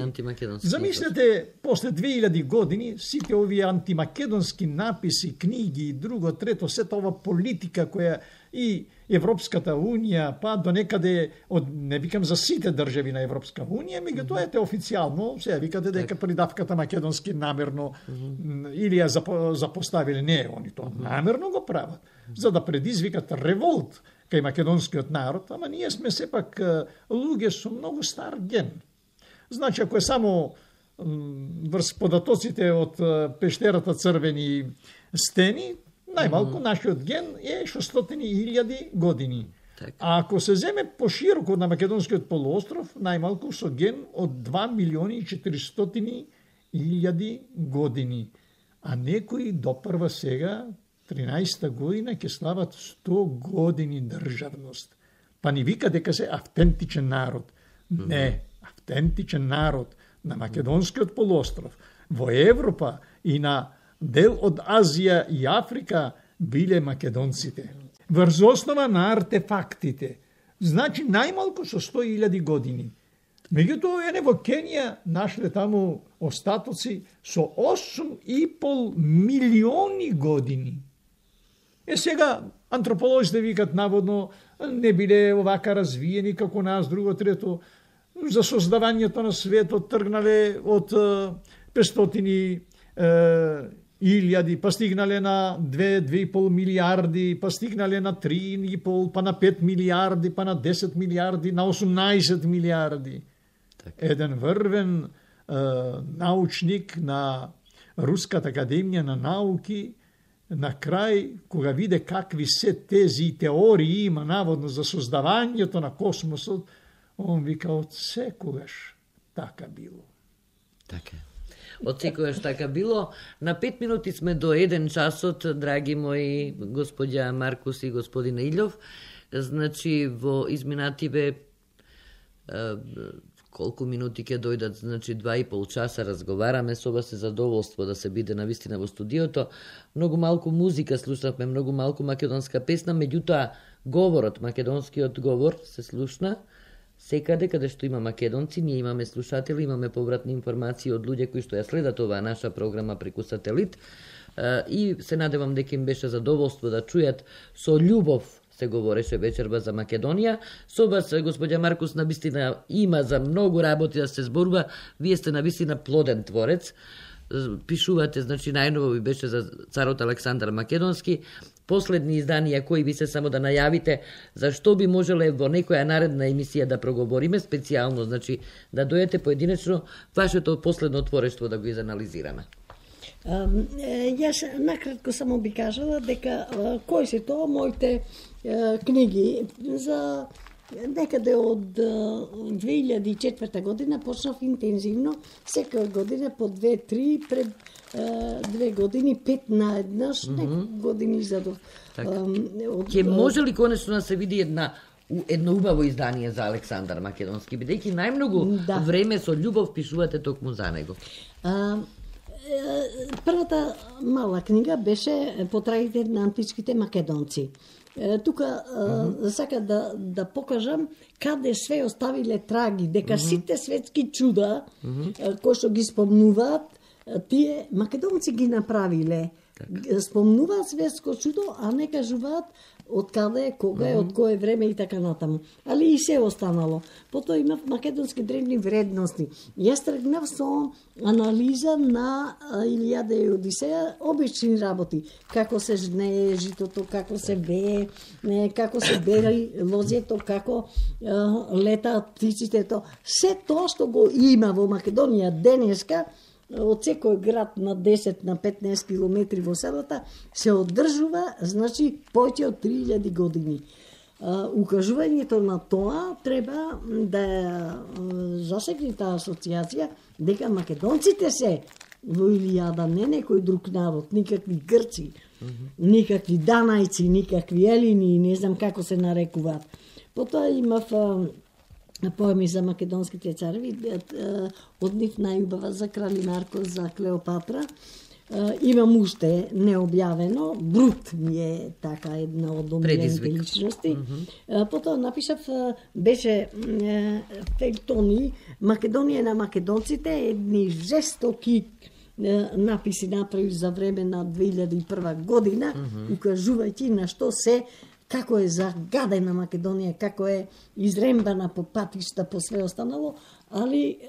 Speaker 2: Замислете, после 2000 години, сите овие антимакедонски написи, книги и друго, трето, сета ова политика која и Европската Унија, па до некаде, не викам за сите држави на Европска Унија, меѓутоа ете официјално, сега викате дека придавката македонски намерно или ја запоставиле, не, они тоа намерно го прават, за да предизвикат револт кај македонскиот народ, ама ние сме сепак луѓе со многу стар ген. Значи, ако е само врз податоците од пештерата Црвени стени, најмалку нашиот ген е 600.000 години. А ако се земе пошироко на македонскиот полуостров, најмалку со ген од 2.400.000 години. А некои допрва сега, 13-та година, ќе слават 100 години државност. Па ни вика дека се автентичен народ. Не, автентичен народ на македонскиот полуостров, во Европа и на дел од Азија и Африка биле македонците. Врз основа на артефактите. Значи најмалку со 100.000 години. Меѓутоа, во Кенија нашле таму остатоци со 8,5 милиони години. Сега антрополозите викат наводно не биле овака развиени како нас, друго, трето, за создавањето на светот тргнале од 500.000, па стигнале на 2,5 милиарди, па стигнале на 3,5, па на 5 милиарди, па на 10 милиарди, на 18 милиарди. Еден врвен научник на Руската академија на науки, на крај, кога виде какви се тези и теории има наводно за создавањето на космосот, он вика, од секогаш така било.
Speaker 1: Така. Од секогаш така било. На 5 минути сме до 1 часот, драги мои господја Маркус и господин Илјов. Значи, во изминативе колку минути ќе дојдат, значи 2,5 часа разговараме, со вас е задоволство да се биде навистина во студиото. Многу малку музика слушнавме, многу малку македонска песна, меѓутоа говорот, македонскиот говор се слушна секаде каде што има македонци. Ние имаме слушатели, имаме повратни информации од луѓе кои што ја следат оваа наша програма преку сателит и се надевам дека им беше задоволство да чујат со љубов се говореше вечерба за Македонија. Со вас, господја Маркус, навистина има за многу работи да се зборува. Вие сте навистина плоден творец. Пишувате, значи најново ви беше за царот Александар Македонски. Последни изданија кои би се само да најавите, зашто би можеле во некоја наредна емисија да проговориме, специјално, значи да дојдете поединечно вашето последно творештво да го изанализираме.
Speaker 3: Јас накратко само би кажала дека кои се тоа моите книги за некаде од 2004 година почнав интензивно, секоја година по 2-3, пред 2 години 5 наеднаш, некои години задов.
Speaker 1: Ќе може ли конечно да се види едно убаво издание за Александар Македонски, бидејќи најмногу време со љубов пишувате токму за него?
Speaker 3: Првата мала книга беше Потрагите на античките македонци. тука сака да покажам каде све оставиле траги, дека сите светски чуда кои што ги спомнуваат, тие македонци ги направиле. Спомнуваат светско чудо, а не кажуваат од каде, кога е, од кое време и така натаму. Али и се останало. Потоа имав македонски древни вредности. Јас тргнав со анализа на Илијада и Одисеја, обични работи. Како се жнее житото, како се бее, како се бери лозјето, како летаат птиците. Се тоа што го има во Македонија денеска, од секој град на 10 на 15 километри во селата се одржува, значи повеќе од 3000 години. Укажувањето на тоа треба да засегне таа асоциација дека македонците се во Илијада, не некој друг народ, никакви грци, никакви данајци, никакви елини, не знам како се нарекуваат. Потоа имав поеми за македонските цареви, од нив најубава за Крали Марко, за Клеопатра. Имам уште необјавено, Брут ми е така една од омилените личности. Потоа напишав, беше фејтони, Македонија на македонците, едни жестоки написи направи за време на 2001 година, укажувајќи на што се како е загадена Македонија, како е изрембана по патишта, по све останало, али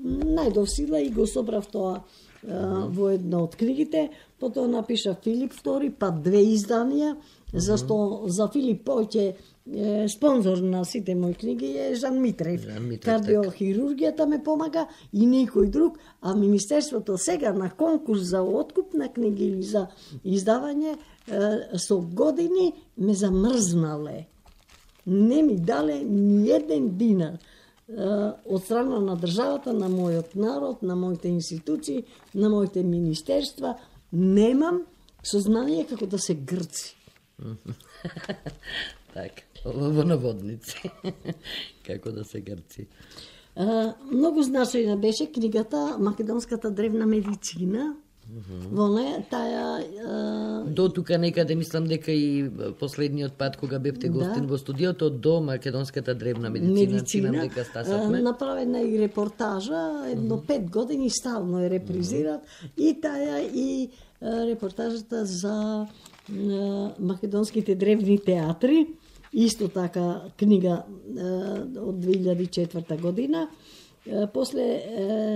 Speaker 3: најдов сила и го собрав тоа во една од книгите. Потоа напишав Филип II, па 2 изданија, зашто за Филип повеќе спонзор на сите мои книги е Жан Митрев. Кардиохирургијата ме помага и некој друг, а Министерството сега на конкурс за откуп на книги или за издавање со години ме замрзнале. Не ми дале ни еден динар од страна на државата, на мојот народ, на моите институции, на моите министерства. Немам сознание како да се грци.
Speaker 1: Така, во наводници. Како да се грци.
Speaker 3: Многу значајна беше книгата Македонската древна медицина. Во неја таа
Speaker 1: до тука некаде мислам дека и последниот пат кога бевте гостин во студиото до Македонската древна медицина дека стасавме.
Speaker 3: Направена и репортажа, едно 5 години стално е репризират и таа и репортажата за македонските древни театри, исто така книга од 2004 година. После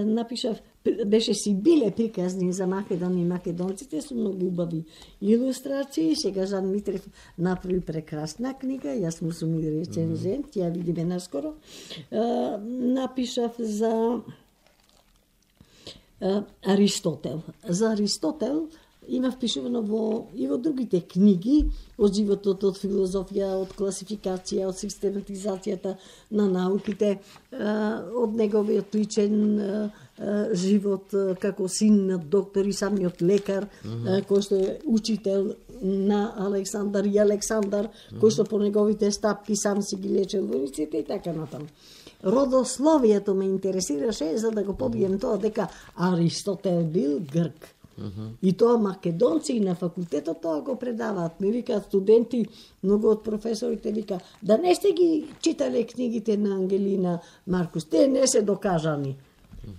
Speaker 3: напишав, беше си биле приказни за Македонија и македонците со многу убави илустрации. Сега Жан Митрев направи прекрасна книга, јас му сум и рецензент, ја видиме наскоро. Напишав за Аристотел. За Аристотел има впишувано и во другите книги од животот, од филозофија, од класификација, од систематизацијата на науките, од неговиот личен живот како син на доктор и самиот лекар, кој што е учител на Александар и Александар, кој што по неговите стапки сам си ги лечел војниците и така натаму. Родословието ме интересираше за да го побием тоа дека Аристотел бил грк. И тоа македонци и на факултетот тоа го предаваат. Ми викаат студенти, многу од професорите вика, да не сте ги читале книгите на Ангелина Маркус, те не се докажани.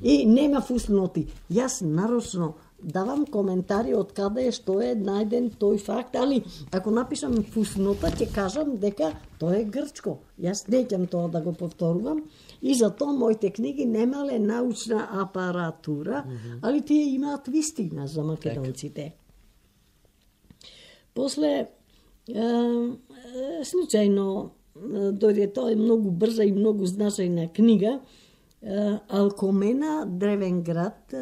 Speaker 3: И нема фусноти. Јас нарочно давам коментари од каде што е најден тој факт, али ако напишам фуснота, ќе кажам дека тоа е грчко. Јас неќам тоа да го повторувам и затоа моите книги немале научна апаратура, али тие имаат вистина за македонците. После случајно дојде тоа е многу брза и многу значајна книга, Алкомена, древен град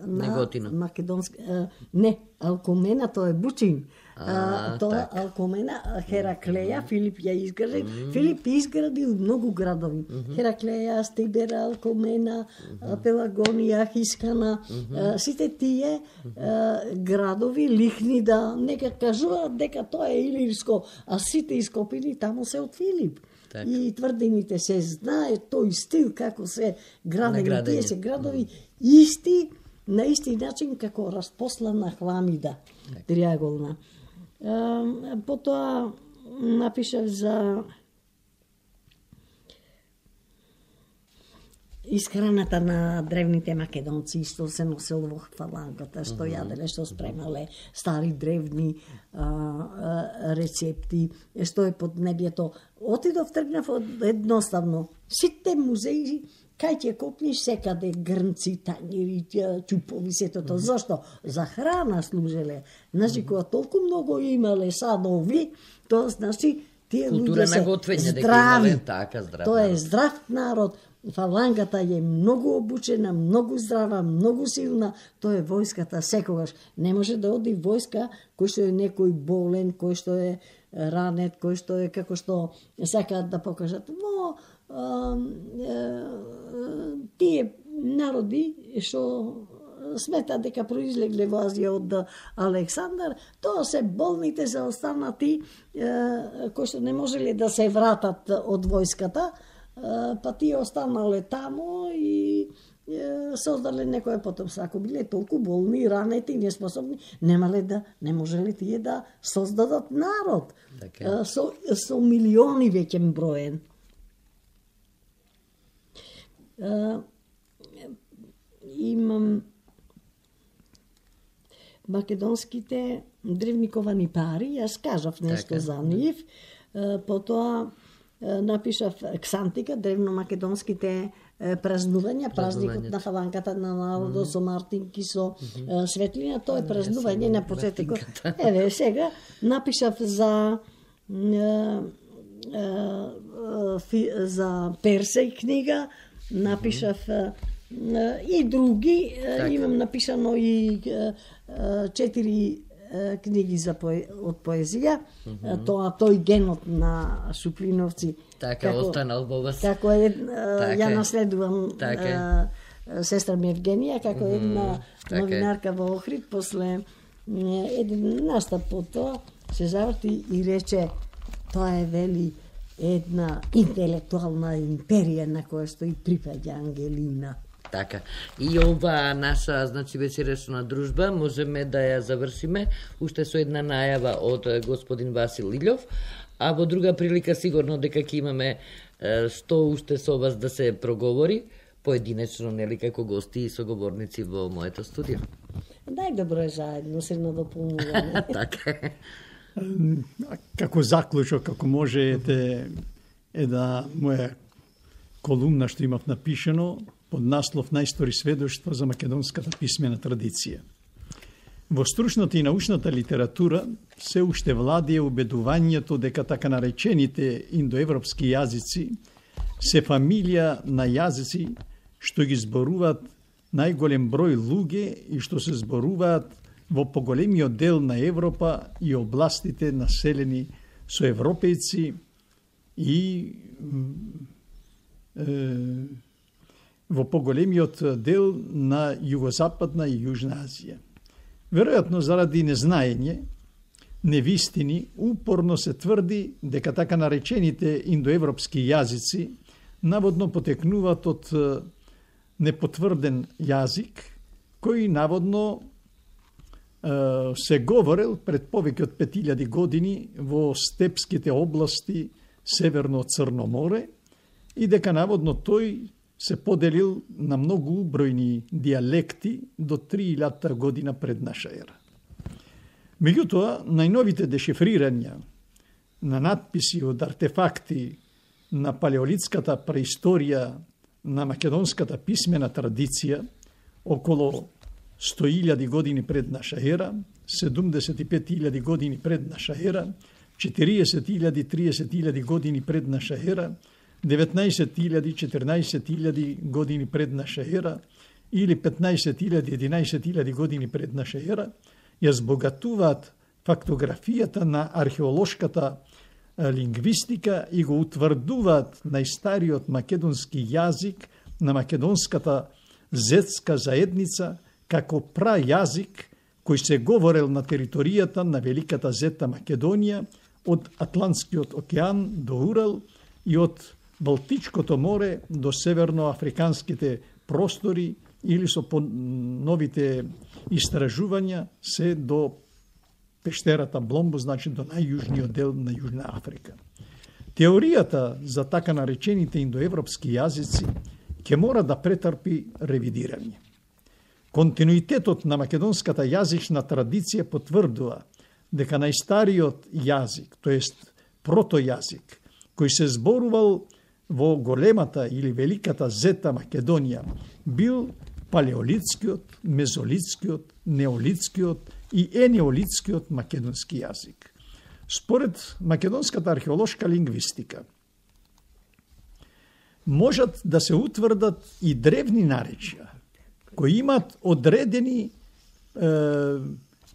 Speaker 3: на македонска... Не, Алкомена, тоа е Бучин. Тоа Алкомена, Хераклеја, Филип ја изгради. Филип изградил многу градови. Хераклеја, Стибера, Алкомена, Пелагонија, Хискана, сите тие градови лихни да нека кажуваат дека тоа е илирско, а сите ископини таму се од Филип. Так. И тврдините се знае тој стил како се градени, тие се градови исти, на исти начин како распослана хламида, триаголна. Потоа напишав за исхраната на древните македонци, што се носело во фалангата, што јаделе, што спремале, стари древни рецепти, што е под небјето. Отидов, тргнав едноставно. Сите музеи, кај ќе копниш секаде грнци, тањери, чупови, сето тоа. Зашто? За храна служеле. Значи, кога толку многу имале садови, тоа значи тие луѓе се здрави. Тоа е здрав народ. Фалангата е многу обучена, многу здрава, многу силна. Тоа е војската секогаш. Не може да оди војска кој што е некој болен, кој што е ранет, кој што е како што сакаат да покажат. Но тие народи што сметаат дека произлегле во Азија од Александар, тоа се болните за останати кои што не можеле да се вратат од војската, па тие останале таму и создале некоја потомство. Ако биле толку болни, ранети, неспособни, не можеле тие да создадат народ. Со милиони веќе броен. Имам македонските древни ковани пари, јас кажав нешто за нив, потоа напишав Ксантика, древно-македонските празнувања, празникот на фалангата на народот со мартинки, со светлина, тоа е празнување на почетокот. Еве, сега напишав за Персеј книга, напишав и други, имам напишано и 4 книги од поезија, тој генот на Шуплиновци.
Speaker 1: Така, останал во вас.
Speaker 3: Како ја наследувам сестра ми Евгенија, како една новинарка во Охрид, после еден настап по тоа, се заврти и рече, тоа е, вели, една интелектуална империја на која што и припаѓа Ангелина.
Speaker 1: Така. И ова наша, значи, вечерешна дружба можеме да ја завршиме уште со една најава од господин Васил Илјов, а во друга прилика сигурно дека ќе имаме што уште со вас да се проговори, поединечно, нели, како гости и соговорници во моето студио.
Speaker 3: Најдобро е заедно, се надополнуваме.
Speaker 1: Така.
Speaker 2: Како заклучок, како можете, една моја колумна што имав напишено под наслов Најстори сведоштва за македонската писмена традиција. Во стручната и научната литература се уште владее убедувањето дека така наречените индоевропски јазици се фамилија на јазици што ги зборуваат најголем број луѓе и што се зборуваат во поголемиот дел на Европа и областите населени со европејци и во поголемиот дел на Југозападна и Јужна Азија. Веројатно заради незнаење, невистини, упорно се тврди дека така наречените индоевропски јазици наводно потекнуваат од непотврден јазик, кој наводно се говорел пред повеќе од 5000 години во степските области северно од Црно море и дека наводно тој се поделил на многу бројни дијалекти до 3000 година пред наша ера. Меѓутоа, најновите дешифрирања на надписи од артефакти на палеолитската преисторија на македонската писмена традиција околу 100.000 години пред наша ера, 75.000 години пред наша ера, 40.000-30.000 години пред наша ера, 19.000-14.000 години пред наша ера или 15.000-11.000 години пред наша ера, ја збогатуваат фактографијата на археолошката лингвистика и го утврдуваат најстариот македонски јазик на македонската зетска заедница како прајазик кој се говорел на територијата на Великата Зета Македонија од Атлантскиот океан до Урал и од Балтичкото море до северноафриканските простори или со новите истражувања се до пештерата Бломбо, значи до најјужниот дел на Јужна Африка. Теоријата за така наречените индоевропски јазици ќе мора да претрпи ревидирање. Континуитетот на македонската јазична традиција потврдува дека најстариот јазик, тоест протојазик, кој се зборувал во големата или великата зета Македонија, бил палеолитскиот, мезолитскиот, неолитскиот и енеолитскиот македонски јазик. Според македонската археолошка лингвистика, можат да се утврдат и древни наречја, кои имат одредени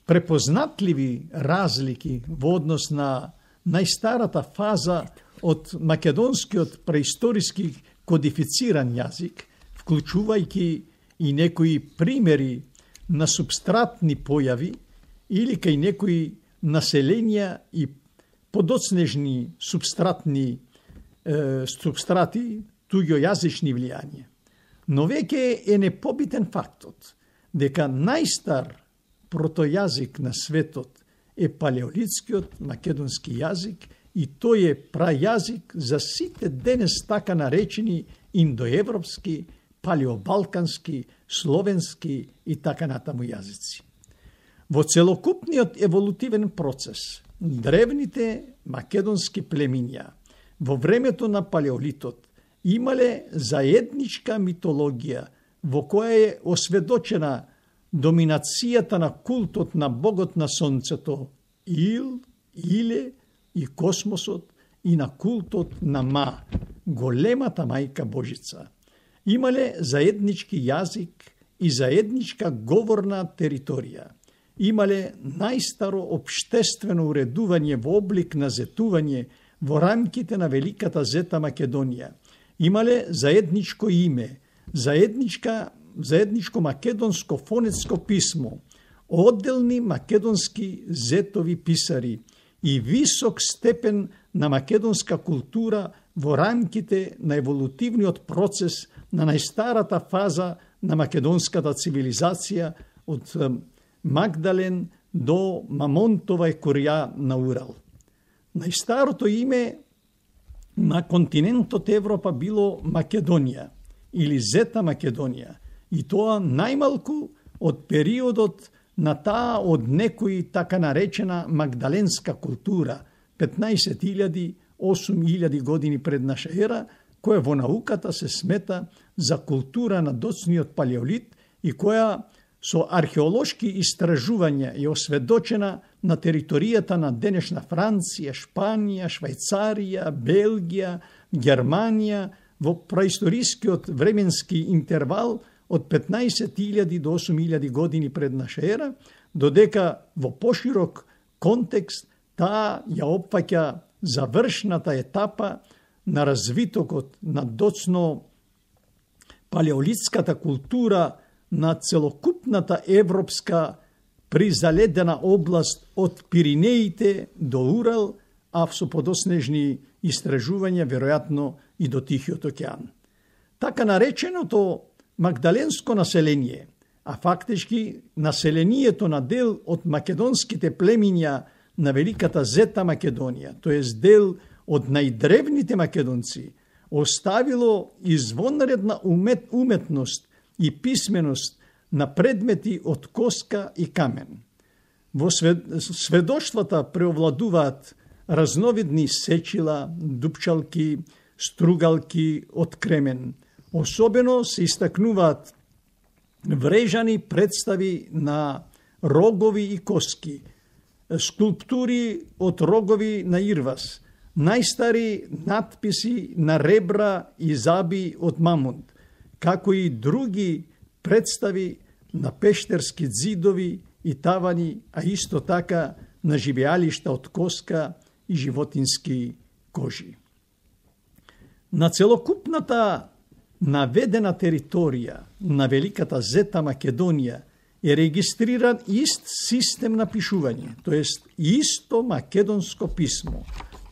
Speaker 2: препознатливи разлики во однос на најстарата фаза од македонскиот преисториски кодифициран јазик, вклучувајќи и некои примери на субстратни појави или кај некои населенија и подоцнежни субстрати, туѓојазични влијања. Но веќе е непобитен фактот дека најстар протојазик на светот е палеолитскиот македонски јазик и тој е прајазик за сите денес така наречени индоевропски, палеобалкански, словенски и така натаму јазици. Во целокупниот еволутивен процес, древните македонски племиња во времето на палеолитот имале заедничка митологија во која е осведочена доминацијата на култот на богот на сонцето Ил, Иле и космосот и на култот на Ма, големата мајка Божица. Имале заеднички јазик и заедничка говорна територија. Имале најстаро општествено уредување во облик на зетување во рамките на великата зета Македонија. Имале заедничко име, заедничко македонско фонетско писмо, одделни македонски зетови писари и висок степен на македонска култура во рамките на еволутивниот процес на најстарата фаза на македонската цивилизација од Магдален до Мамонтова и Курија на Урал. Најстарото име на континентот Европа било Македонија или Зета Македонија и тоа најмалку од периодот на таа од некои така наречена магдаленска култура 15.000-8.000 години пред наша ера, која во науката се смета за култура на доцниот палеолит и која со археолошки истражувања е осведочена на територијата на денешна Франција, Шпанија, Швајцарија, Белгија, Германија во праисторискиот временски интервал од 15.000 до 8.000 години пред наша ера, додека во поширок контекст таа ја опфаќа завршната етапа на развитокот на доцно палеолитската култура на целокупната европска призаледена област од Пиринеите до Урал, а со подоснежни истражувања веројатно и до Тихиот океан. Така нареченото магдаленско население, а фактички населението на дел од македонските племиња на великата Зета Македонија, тоест дел од најдревните македонци, оставило извонредна уметност и писменост на предмети од коска и камен. Во сведоштвата преовладуваат разновидни сечила, дупчалки, стругалки од кремен. Особено се истакнуваат врежани представи на рогови и коски, скулптури од рогови на ирвас, најстари надписи на ребра и заби од мамонт, како и други представи на пештерски ѕидови и тавани, а исто така на живеалишта од коска и животински кожи. На целокупната наведена територија на великата Зета Македонија е регистриран ист систем на пишување, тоест исто македонско писмо.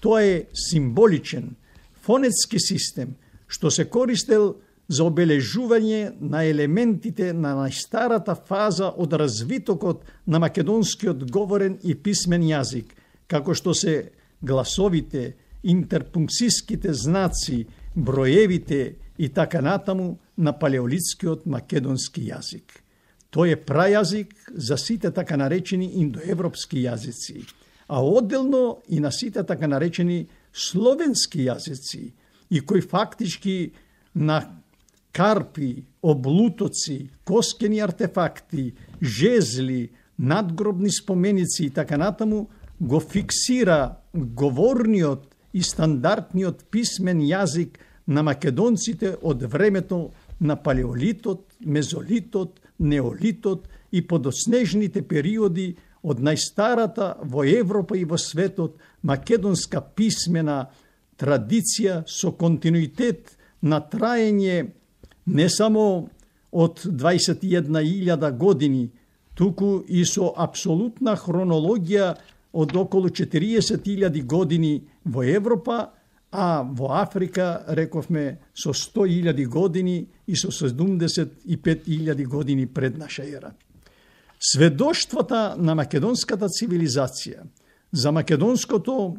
Speaker 2: Тоа е символичен, фонетски систем, што се користел за обележување на елементите на најстарата фаза од развитокот на македонскиот говорен и писмен јазик, како што се гласовите, интерпункцијските знаци, броевите и така натаму на палеолитскиот македонски јазик. Тој е прајазик за сите така наречени индоевропски јазици, а одделно и на сите така наречени словенски јазици, и кои фактички на карпи, облутоци, коскени артефакти, жезли, надгробни споменици и така натаму го фиксира говорниот и стандардниот писмен јазик на македонците од времето на палеолитот, мезолитот, неолитот и подоснежните периоди од најстарата во Европа и во светот македонска писмена традиција со континуитет на траење не само од 21.000 години, туку и со апсолутна хронологија од околу 40.000 години во Европа, а во Африка, рековме, со 100.000 години и со 75.000 години пред наша ера. Сведоштвата на македонската цивилизација, за македонското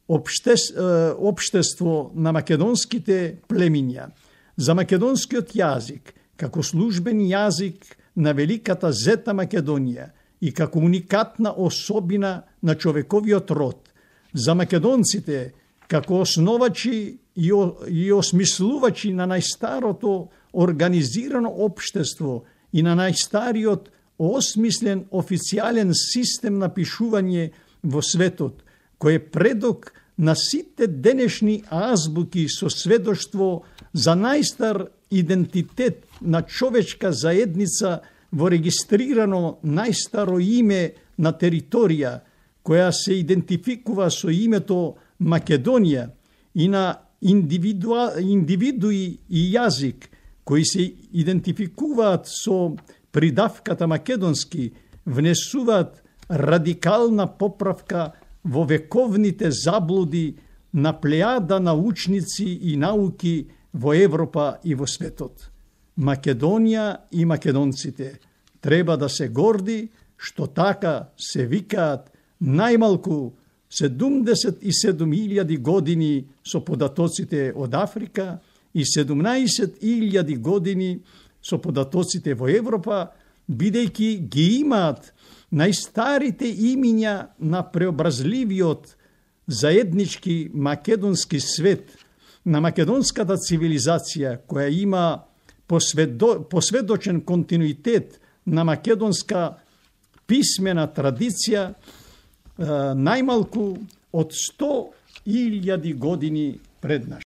Speaker 2: општество на македонските племиња, за македонскиот јазик, како службен јазик на великата зета Македонија и како уникатна особина на човековиот род, за македонците како основачи и осмислувачи на најстарото организирано општество и на најстариот осмислен официјален систем на пишување во светот, кој е предок на сите денешни азбуки со сведоштво за најстар идентитет на човечка заедница во регистрирано најстаро име на територија, која се идентификува со името Македонија, и на индивидуи и јазик, кои се идентификуваат со придавката македонски, внесуваат радикална поправка во вековните заблуди на плејада научници и науки во Европа и во светот. Македонија и македонците треба да се горди што така се викаат најмалку 77.000 години со податоците од Африка и 17.000 години со податоците во Европа, бидејќи ги имаат најстарите имиња на преобразливиот заеднички македонски свет, на македонската цивилизација, која има посведочен континуитет на македонска писмена традиција, најмалку од 100.000 години пред наш.